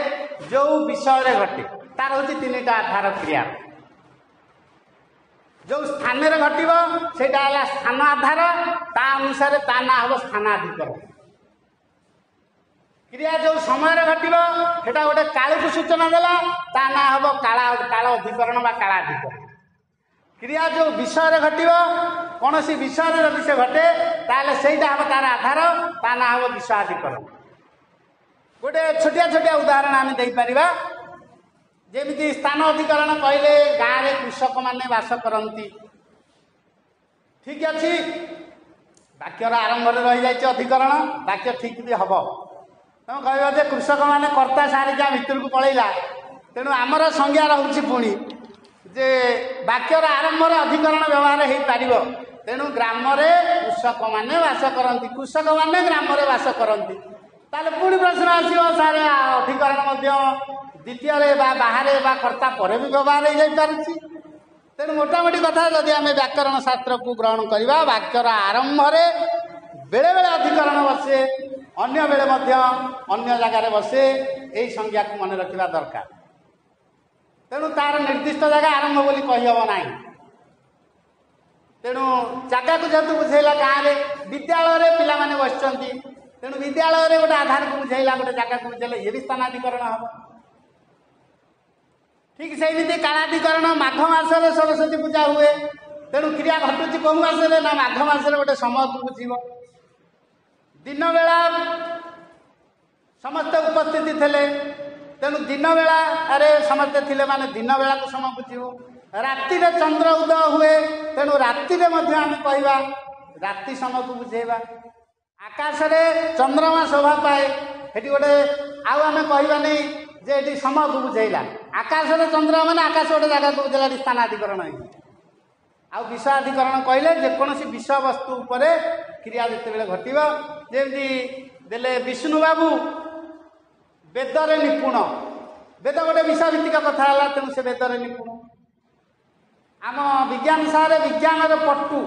ଯୋଉ ବିଷୟରେ ଘଟେ, ତାର ହେଉଛି 3ଟା ଆଧାର। କ୍ରିୟା ଯୋଉ ସ୍ଥାନରେ ଘଟିବ ସେଇଟା ହେଲା ସ୍ଥାନ ଆଧାର, ତା ଅନୁସାରେ ତା ନାଁ ହେବ ସ୍ଥାନାଧିକରଣ। କ୍ରିୟା ଯୋଉ ସମୟରେ ଘଟିବ ସେଟା ଗୋଟେ କାଳକୁ ସୂଚନା ଦେଲା, ତା ନାଁ ହେବ କାଳ ଅଧିକରଣ ବା କାଳାଧିକରଣ। କ୍ରିୟା ଯୋଉ ବିଷୟରେ ଘଟିବ, କୌଣସି ବିଷୟରେ ଯଦି ସେ ଘଟେ ତାହେଲେ ସେଇଟା ହେବ ତାର ଆଧାର, ତା ନାଁ ହେବ ବିଷୟାଧିକରଣ। ଗୋଟେ ଛୋଟିଆ ଛୋଟିଆ ଉଦାହରଣ ଆମେ ଦେଇପାରିବା। ଯେମିତି ସ୍ଥାନ ଅଧିକରଣ କହିଲେ ଗାଁରେ କୃଷକମାନେ ବାସ କରନ୍ତି, ଠିକ ଅଛି, ବାକ୍ୟର ଆରମ୍ଭରେ ରହିଯାଇଛି ଅଧିକରଣ, ବାକ୍ୟ ଠିକ ବି ହବ। ତମେ କହିବ ଯେ କୃଷକମାନେ କର୍ତ୍ତା ସାରିକା ଭିତରକୁ ପଳେଇଲା, ତେଣୁ ଆମର ସଂଜ୍ଞା ରହୁଛି ପୁଣି ଯେ ବାକ୍ୟର ଆରମ୍ଭରେ ଅଧିକରଣ ବ୍ୟବହାର ହେଇପାରିବ। ତେଣୁ ଗ୍ରାମରେ କୃଷକମାନେ ବାସ କରନ୍ତି, କୃଷକମାନେ ଗ୍ରାମରେ ବାସ କରନ୍ତି। ତାହେଲେ ପୁଣି ପ୍ରଶ୍ନ ଆସିବ, ସାର୍ ଅଧିକରଣ ମଧ୍ୟ ଦ୍ୱିତୀୟରେ ବା ବାହାରେ ବା କର୍ତ୍ତା ପରେ ବି ବ୍ୟବହାର ହେଇଯାଇପାରୁଛି। ତେଣୁ ମୋଟାମୋଟି କଥା ଯଦି ଆମେ ବ୍ୟାକରଣ ଶାସ୍ତ୍ରକୁ ଗ୍ରହଣ କରିବା, ବାକ୍ୟର ଆରମ୍ଭରେ ବେଳେବେଳେ ଅଧିକରଣ ବସେ, ଅନ୍ୟ ବେଳେ ମଧ୍ୟ ଅନ୍ୟ ଜାଗାରେ ବସେ। ଏଇ ସଂଜ୍ଞାକୁ ମନେ ରଖିବା ଦରକାର। ତେଣୁ ତାର ନିର୍ଦ୍ଦିଷ୍ଟ ଜାଗା ଆରମ୍ଭ ବୋଲି କହିହେବ ନାହିଁ। ତେଣୁ ଜାଗାକୁ ଯେହେତୁ ବୁଝେଇଲା, ଗାଁରେ ବିଦ୍ୟାଳୟରେ ପିଲାମାନେ ବସିଛନ୍ତି, ତେଣୁ ବିଦ୍ୟାଳୟରେ ଗୋଟେ ଆଧାରକୁ ବୁଝେଇଲା, ଗୋଟେ ଜାଗାକୁ ବୁଝେଇଲା, ଇଏ ବି ସ୍ଥାନାଧିକରଣ ହେବ। ଠିକ ସେମିତି କାଳାଧିକରଣ, ମାଘ ମାସରେ ସରସ୍ୱତୀ ପୂଜା ହୁଏ, ତେଣୁ କ୍ରିୟା ଘଟୁଛି କେଉଁ ମାସରେ ନା ମାଘ ମାସରେ, ଗୋଟେ ସମୟକୁ ବୁଝିବ। ଦିନବେଳା ସମସ୍ତେ ଉପସ୍ଥିତି ଥିଲେ, ତେଣୁ ଦିନ ବେଳାରେ ସମସ୍ତେ ଥିଲେ ମାନେ ଦିନ ବେଳାକୁ ସମୟ ବୁଝିବ। ରାତିରେ ଚନ୍ଦ୍ର ଉଦୟ ହୁଏ, ତେଣୁ ରାତିରେ ମଧ୍ୟ ଆମେ କହିବା ରାତି ସମୟକୁ ବୁଝେଇବା। ଆକାଶରେ ଚନ୍ଦ୍ରମା ଶୋଭା ପାଏ, ସେଠି ଗୋଟେ ଆଉ ଆମେ କହିବାନି ଯେ ଏଠି ସମୟକୁ ବୁଝେଇଲା। ଆକାଶରେ ଚନ୍ଦ୍ର ମାନେ ଆକାଶ ଗୋଟେ ଜାଗାକୁ ବୁଝେଇଲା, ଏଠି ସ୍ଥାନାଧିକରଣ ହେଇଛି। ଆଉ ବିଷୟାଧିକରଣ କହିଲେ ଯେକୌଣସି ବିଷୟବସ୍ତୁ ଉପରେ କ୍ରିୟା ଯେତେବେଳେ ଘଟିବ, ଯେମିତି ଦେଲେ ବିଷ୍ଣୁ ବାବୁ ବେଦରେ ନିପୁଣ, ବେଦ ଗୋଟେ ବିଷୟଭିତ୍ତିକ କଥା ହେଲା, ତେଣୁ ସେ ବେଦରେ ନିପୁଣ। ଆମ ବିଜ୍ଞାନ ସାରେ ବିଜ୍ଞାନରେ ପଟୁ,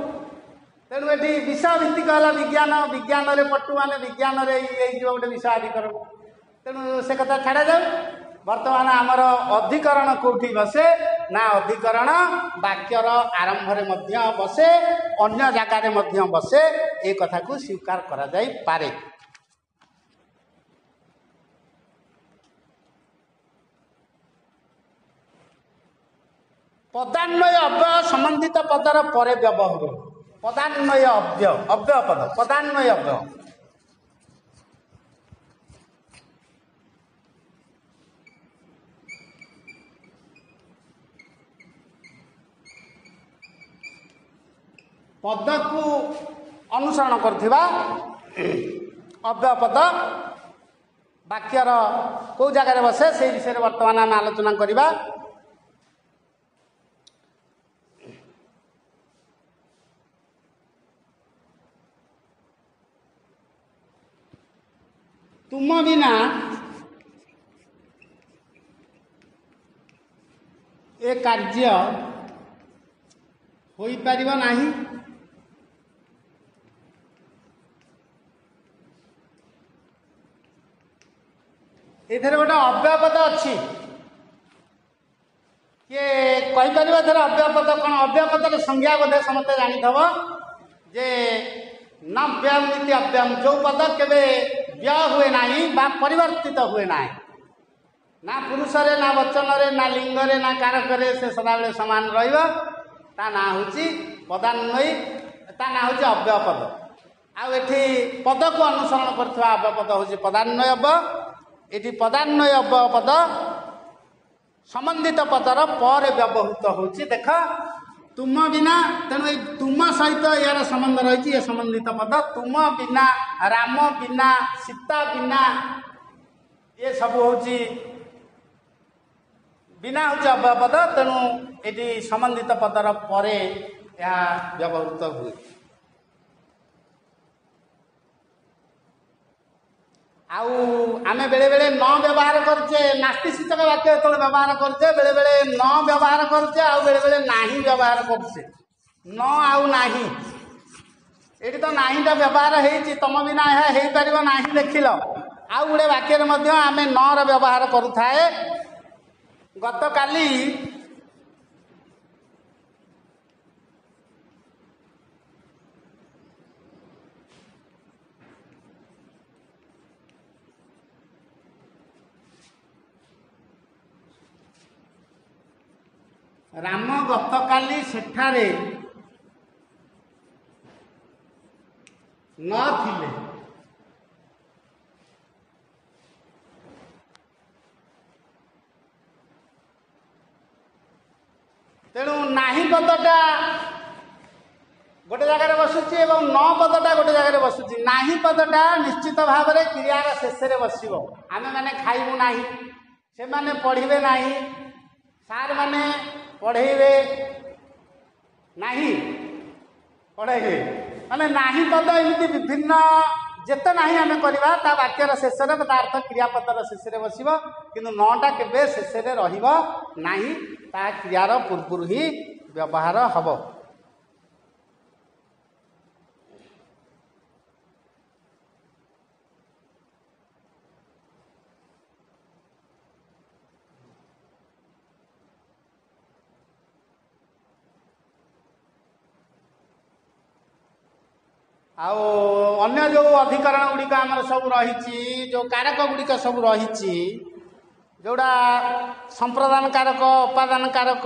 ତେଣୁ ଏଠି ବିଷୟଭିତ୍ତିକ ହେଲା ବିଜ୍ଞାନ, ବିଜ୍ଞାନରେ ପଟୁ ମାନେ ବିଜ୍ଞାନରେ ହେଇଯିବ ଗୋଟେ ବିଷୟାଧିକରଣ। ତେଣୁ ସେ କଥା ଛାଡ଼ାଯାଉ। ବର୍ତ୍ତମାନ ଆମର ଅଧିକରଣ କେଉଁଠି ବସେ ନା ଅଧିକରଣ ବାକ୍ୟର ଆରମ୍ଭରେ ମଧ୍ୟ ବସେ, ଅନ୍ୟ ଜାଗାରେ ମଧ୍ୟ ବସେ, ଏ କଥାକୁ ସ୍ୱୀକାର କରାଯାଇପାରେ। ପଦାନ୍ୱୟ ଅବ୍ୟୟ ସମ୍ବନ୍ଧିତ ପଦର ପରେ ବ୍ୟବହୃତ। ପଦାନ୍ୱୟ ଅବ୍ୟୟ, ଅବ୍ୟୟ ପଦ, ପଦାନ୍ୱୟ ଅବ୍ୟୟ। ପଦକୁ ଅନୁସରଣ କରୁଥିବା ଅବ୍ୟୟ ପଦ ବାକ୍ୟର କେଉଁ ଜାଗାରେ ବସେ ସେଇ ବିଷୟରେ ବର୍ତ୍ତମାନ ଆମେ ଆଲୋଚନା କରିବା। ତୁମ ବିନା ଏ କାର୍ଯ୍ୟ ହୋଇପାରିବ ନାହିଁ। ଏଥିରେ ଗୋଟେ ଅବ୍ୟୟ ପଦ ଅଛି, କିଏ କହିପାରିବ ଏଥିରେ ଅବ୍ୟୟ ପଦ କ'ଣ? ଅବ୍ୟୟ ପଦର ସଂଜ୍ଞା ବୋଧେ ସମସ୍ତେ ଜାଣିଥିବ ଯେ ନ ବ୍ୟୟମ୍ ଇତି ଅବ୍ୟୟମ୍, ଯେଉଁ ପଦ କେବେ ବ୍ୟୟ ହୁଏ ନାହିଁ ବା ପରିବର୍ତ୍ତିତ ହୁଏ ନାହିଁ, ନା ପୁରୁଷରେ ନା ବଚନରେ ନା ଲିଙ୍ଗରେ ନା କାରକରେ, ସେ ସଦାବେଳେ ସମାନ ରହିବ, ତା ନାଁ ହେଉଛି ପଦାନ୍ୱୟୀ, ତା ନାଁ ହେଉଛି ଅବ୍ୟୟ ପଦ। ଆଉ ଏଠି ପଦକୁ ଅନୁସରଣ କରୁଥିବା ଅବ୍ୟୟ ପଦ ହେଉଛି ପଦାନ୍ୱୟ ଅବ୍ୟୟ। ଏଠି ପଦାନ୍ୱୟ ଅବ୍ୟୟ ପଦ ସମ୍ବନ୍ଧିତ ପଦର ପରେ ବ୍ୟବହୃତ ହେଉଛି। ଦେଖ ତୁମ ବିନା, ତେଣୁ ଏଇ ତୁମ ସହିତ ଏହାର ସମ୍ବନ୍ଧ ରହିଛି, ଏ ସମ୍ବନ୍ଧିତ ପଦ ତୁମ ବିନା, ରାମ ବିନା, ସୀତା ବିନା, ଏ ସବୁ ହେଉଛି ବିନା ହେଉଛି ଅବ୍ୟୟ ପଦ। ତେଣୁ ଏଠି ସମ୍ବନ୍ଧିତ ପଦର ପରେ ଏହା ବ୍ୟବହୃତ ହୁଏ। ଆଉ ଆମେ ବେଳେବେଳେ ନ ବ୍ୟବହାର କରୁଛେ, ନାସ୍ତି ସୂଚକ ବାକ୍ୟ ଯେତେବେଳେ ବ୍ୟବହାର କରୁଛେ ବେଳେବେଳେ ନ ବ୍ୟବହାର କରୁଛେ, ଆଉ ବେଳେବେଳେ ନାହିଁ ବ୍ୟବହାର କରୁଛେ। ନ ଆଉ ନାହିଁ, ଏଠି ତ ନାହିଁଟା ବ୍ୟବହାର ହେଇଛି, ତମ ବିନା ଏହା ହେଇପାରିବ ନାହିଁ ଦେଖିଲ। ଆଉ ଗୋଟେ ବାକ୍ୟରେ ମଧ୍ୟ ଆମେ ନର ବ୍ୟବହାର କରୁଥାଏ। ଗତକାଲି ରାମ ଗତକାଲି ସେଠାରେ ନଥିଲେ। ତେଣୁ ନାହିଁ ପଦଟା ଗୋଟେ ଜାଗାରେ ବସୁଛି ଏବଂ ନ ପଦଟା ଗୋଟେ ଜାଗାରେ ବସୁଛି। ନାହିଁ ପଦଟା ନିଶ୍ଚିତ ଭାବରେ କ୍ରିୟାର ଶେଷରେ ବସିବ। ଆମେମାନେ ଖାଇବୁ ନାହିଁ, ସେମାନେ ପଢ଼ିବେ ନାହିଁ, ସାର୍ ମାନେ ପଢ଼େଇବେ ନାହିଁ। ପଢ଼େଇବେ। ମାନେ ନାହିଁ ପଦ ଏମିତି ବିଭିନ୍ନ ଯେତେ ନାହିଁ ଆମେ କରିବା ତା ବାକ୍ୟର ଶେଷରେ, ତା ଅର୍ଥ କ୍ରିୟାପଦର ଶେଷରେ ବସିବ, କିନ୍ତୁ ନଟା କେବେ ଶେଷରେ ରହିବ ନାହିଁ, ତା କ୍ରିୟାର ପୂର୍ବରୁ ହିଁ ବ୍ୟବହାର ହେବ। ଆଉ ଅନ୍ୟ ଯେଉଁ ଅଧିକରଣ ଗୁଡ଼ିକ ଆମର ସବୁ ରହିଛି, ଯେଉଁ କାରକ ଗୁଡ଼ିକ ସବୁ ରହିଛି, ଯେଉଁଟା ସମ୍ପ୍ରଦାନ କାରକ, ଉପାଦାନ କାରକ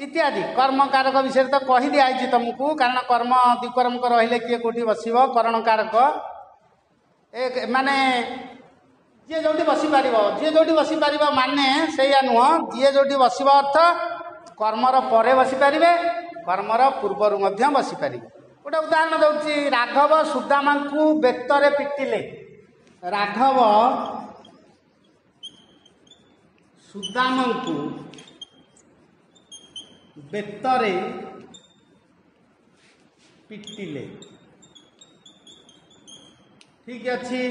ଇତ୍ୟାଦି, କର୍ମ କାରକ ବିଷୟରେ ତ କହିଦିଆହେଇଛି ତୁମକୁ, କାରଣ କର୍ମ ଦ୍ୱିକର୍ମକ ରହିଲେ କିଏ କେଉଁଠି ବସିବ। କରଣ କାରକ ଏ ମାନେ ଯିଏ ଯେଉଁଠି ବସିପାରିବ, ଯିଏ ଯେଉଁଠି ବସିପାରିବ ମାନେ ସେଇଆ ନୁହଁ, ଯିଏ ଯେଉଁଠି ବସିବ ଅର୍ଥ କର୍ମର ପରେ ବସିପାରିବେ, କର୍ମର ପୂର୍ବରୁ ମଧ୍ୟ ବସିପାରିବେ। ଗୋଟେ ଉଦାହରଣ ଦେଉଛି, ରାଘବ ସୁଦାମାଙ୍କୁ ବେତରେ ପିଟିଲେ। ରାଘବ ସୁଦାମଙ୍କୁ ବେତରେ ପିଟିଲେ। ଠିକ ଅଛି,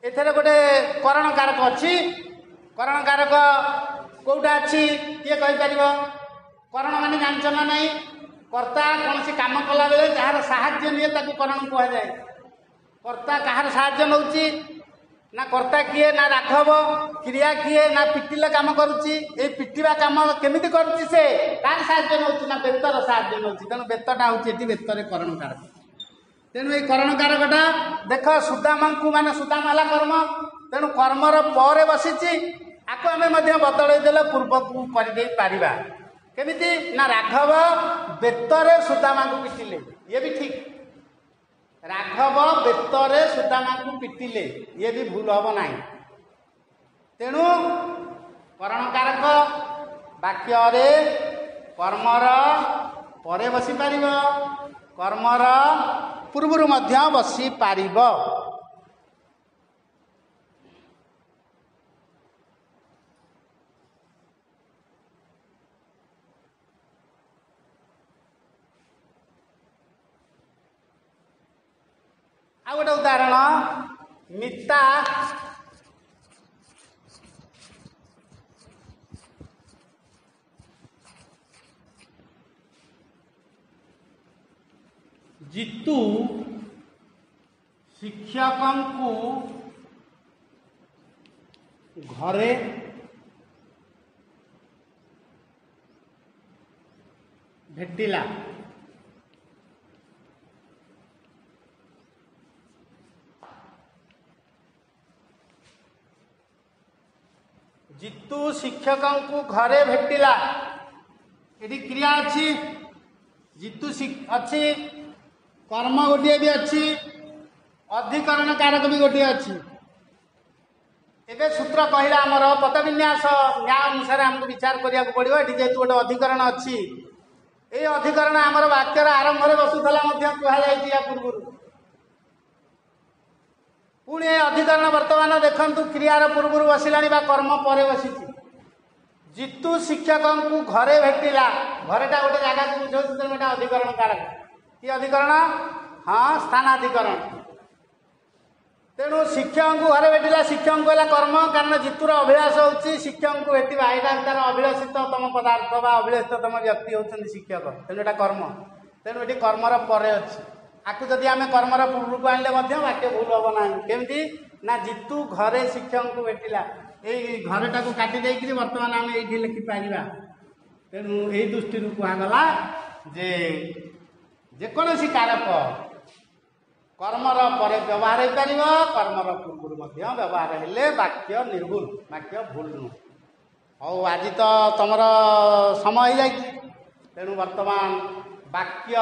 ଏଥିରେ ଗୋଟେ କରଣ କାରକ ଅଛି। କରଣ କାରକ କୋଉଟା ଅଛି କିଏ କହିପାରିବ? କରଣ ମାନେ ଜାଣିଛ ନା ନାହିଁ? କର୍ତ୍ତା କୌଣସି କାମ କଲାବେଳେ ଯାହାର ସାହାଯ୍ୟ ନିଏ ତାକୁ କରଣ କୁହାଯାଏ। କର୍ତ୍ତା କାହାର ସାହାଯ୍ୟ ନେଉଛି ନା କର୍ତ୍ତା କିଏ ନା ରାଘବ, କ୍ରିୟା କିଏ ନା ପିଟିଲେ କାମ କରୁଛି। ଏଇ ପିଟିବା କାମ କେମିତି କରୁଛି, ସେ କାହାର ସାହାଯ୍ୟ ନେଉଛି ନା ବେତର ସାହାଯ୍ୟ ନେଉଛି। ତେଣୁ ବେତଟା ହେଉଛି ଏଠି ବେତରେ କରଣ କାରକ। ତେଣୁ ଏଇ କରଣ କାରକଟା ଦେଖ, ସୁଦାମାଙ୍କୁ ମାନେ ସୁଦାମ ହେଲା କର୍ମ, ତେଣୁ କର୍ମର ପରେ ବସିଛି। ଆକୁ ଆମେ ମଧ୍ୟ ବଦଳେଇ ଦେଲେ ପୂର୍ବକୁ କରିଦେଇ ପାରିବା। କେମିତି ନା ରାଘବ ବେତରେ ସୁଦାମାଙ୍କୁ ପିଟିଲେ, ଇଏ ବି ଠିକ। ରାଘବ ବେତରେ ସୁଦାମାଙ୍କୁ ପିଟିଲେ, ଇଏ ବି ଭୁଲ ହବ ନାହିଁ। ତେଣୁ କରଣକାରକ ବାକ୍ୟରେ କର୍ମର ପରେ ବସିପାରିବ, କର୍ମର ପୂର୍ବରୁ ମଧ୍ୟ ବସିପାରିବ। ଆଉ ଗୋଟେ ଉଦାହରଣ, ମିତା ଜିତୁ ଶିକ୍ଷକଙ୍କୁ ଘରେ ଭେଟିଲା। ଜିତୁ ଶିକ୍ଷକଙ୍କୁ ଘରେ ଭେଟିଲା, ଏଠି କ୍ରିୟା ଅଛି, ଜିତୁ ଅଛି, କର୍ମ ଗୋଟିଏ ବି ଅଛି, ଅଧିକରଣ କାରକ ବି ଗୋଟିଏ ଅଛି। ଏବେ ସୂତ୍ର କହିଲା ଆମର ପଦବିନ୍ୟାସ ନ୍ୟାୟ ଅନୁସାରେ ଆମକୁ ବିଚାର କରିବାକୁ ପଡ଼ିବ। ଏଠି ଯେହେତୁ ଗୋଟେ ଅଧିକରଣ ଅଛି, ଏଇ ଅଧିକରଣ ଆମର ବାକ୍ୟର ଆରମ୍ଭରେ ବସୁଥିଲା ମଧ୍ୟ କୁହାଯାଇଛି ୟା ପୂର୍ବରୁ। ପୁଣି ଏ ଅଧିକରଣ ବର୍ତ୍ତମାନ ଦେଖନ୍ତୁ କ୍ରିୟାର ପୂର୍ବରୁ ବସିଲାଣି ବା କର୍ମ ପରେ ବସିଛି। ଜିତୁ ଶିକ୍ଷକଙ୍କୁ ଘରେ ଭେଟିଲା, ଘରେଟା ଗୋଟେ ଜାଗାକୁ ବୁଝାଉଛି, ତେଣୁ ଏଟା ଅଧିକରଣ କାରକ। କି ଅଧିକରଣ? ହଁ, ସ୍ଥାନାଧିକରଣ। ତେଣୁ ଶିକ୍ଷକଙ୍କୁ ଘରେ ଭେଟିଲା, ଶିକ୍ଷକଙ୍କୁ ହେଲା କର୍ମ, କାରଣ ଜିତୁର ଅଭିଳାଷ ହେଉଛି ଶିକ୍ଷକଙ୍କୁ ଭେଟିବା, ଏଇଟା ତାର ଅଭିଳାଷିତତମ ପଦାର୍ଥ ବା ଅଭିଳାଷିତତମ ବ୍ୟକ୍ତି ହେଉଛନ୍ତି ଶିକ୍ଷକ, ତେଣୁ ଏଇଟା କର୍ମ। ତେଣୁ ଏଠି କର୍ମର ପରେ ଅଛି। ଆକୁ ଯଦି ଆମେ କର୍ମର ପୂର୍ବକୁ ଆଣିଲେ ମଧ୍ୟ ବାକ୍ୟ ଭୁଲ ହେବ ନାହିଁ। କେମିତି ନା ଜିତୁ ଘରେ ଶିକ୍ଷକଙ୍କୁ ଭେଟିଲା, ଏଇ ଘରଟାକୁ କାଟି ଦେଇକିରି ବର୍ତ୍ତମାନ ଆମେ ଏଇଠି ଲେଖିପାରିବା। ତେଣୁ ଏଇ ଦୃଷ୍ଟିରୁ କୁହାଗଲା ଯେ ଯେକୌଣସି କାରକ କର୍ମର ପରେ ବ୍ୟବହାର ହେଇପାରିବ, କର୍ମର ପୂର୍ବରୁ ମଧ୍ୟ ବ୍ୟବହାର ହେଲେ ବାକ୍ୟ ନିର୍ଭୁଲ, ବାକ୍ୟ ଭୁଲ ନୁହଁ। ହଉ, ଆଜି ତ ତମର ସମୟ ହେଇଯାଇଛି, ତେଣୁ ବର୍ତ୍ତମାନ ବାକ୍ୟ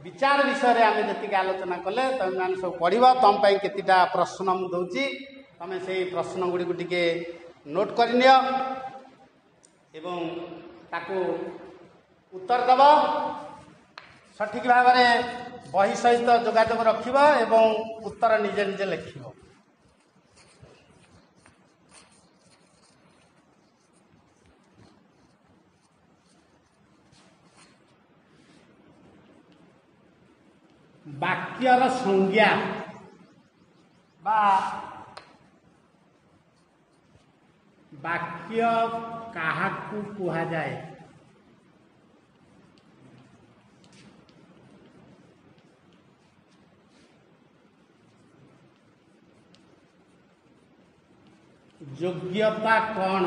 ବିଚାର ବିଷୟରେ ଆମେ ଯେତିକି ଆଲୋଚନା କଲେ ତୁମେମାନେ ସବୁ ପଢ଼ିବ। ତୁମ ପାଇଁ କେତେଟା ପ୍ରଶ୍ନ ମୁଁ ଦେଉଛି, ତୁମେ ସେଇ ପ୍ରଶ୍ନ ଗୁଡ଼ିକୁ ଟିକେ ନୋଟ୍ କରିନିଅ ଏବଂ ତାକୁ ଉତ୍ତର ଦେବ। ସଠିକ୍ ଭାବରେ ବହି ସହିତ ଯୋଗାଯୋଗ ରଖିବ ଏବଂ ଉତ୍ତର ନିଜେ ନିଜେ ଲେଖିବ। ବାକ୍ୟର ସଂଜ୍ଞା ବା ବାକ୍ୟ କାହାକୁ କୁହାଯାଏ? ଯୋଗ୍ୟତା କ'ଣ?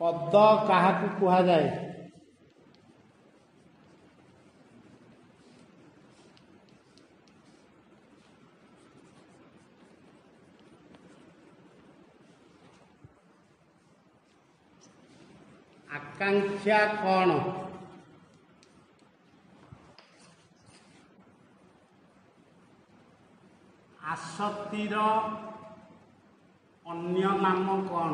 ପଦ କାହାକୁ କୁହାଯାଏ? ଆକାଂକ୍ଷା କ'ଣ? ଆସକ୍ତିର ଅନ୍ୟ ନାମ କ'ଣ?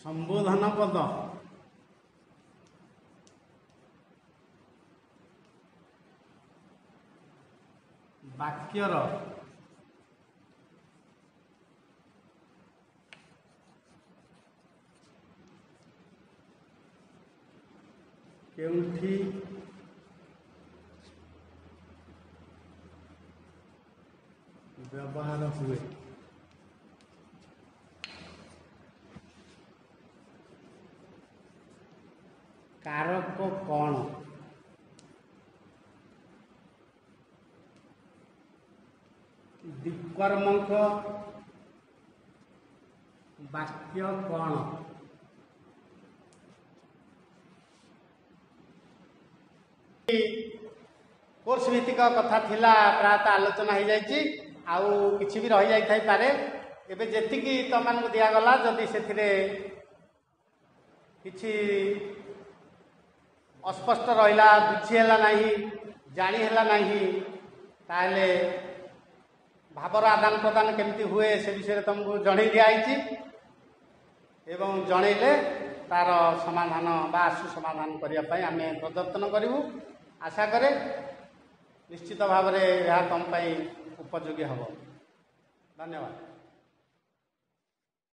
ସମ୍ବୋଧନ ପଦ। ବାକ୍ୟର କେଉଁଠି ବ୍ୟବହାର ହୁଏ? କାରକ କ'ଣ? ଦ୍ୱିକର୍ମକ ବାକ୍ୟ କ'ଣ? କୋର୍ସ ଭିତ୍ତିକ କଥା ଥିଲା, ପ୍ରାୟତଃ ଆଲୋଚନା ହେଇଯାଇଛି, ଆଉ କିଛି ବି ରହିଯାଇଥାଇପାରେ। ଏବେ ଯେତିକି ତମମାନଙ୍କୁ ଦିଆଗଲା, ଯଦି ସେଥିରେ କିଛି ଅସ୍ପଷ୍ଟ ରହିଲା, ବୁଝି ହେଲା ନାହିଁ, ଜାଣି ହେଲା ନାହିଁ, ତାହେଲେ ଭାବର ଆଦାନ ପ୍ରଦାନ କେମିତି ହୁଏ ସେ ବିଷୟରେ ତୁମକୁ ଜଣେଇ ଦିଆହେଇଛି ଏବଂ ଜଣେଇଲେ ତାର ସମାଧାନ ବା ଆଶୁ ସମାଧାନ କରିବା ପାଇଁ ଆମେ ପ୍ରଦର୍ଶନ କରିବୁ। ଆଶା କରେ ନିଶ୍ଚିତ ଭାବରେ ଏହା ତୁମ ପାଇଁ ଉପଯୋଗୀ ହେବ। ଧନ୍ୟବାଦ।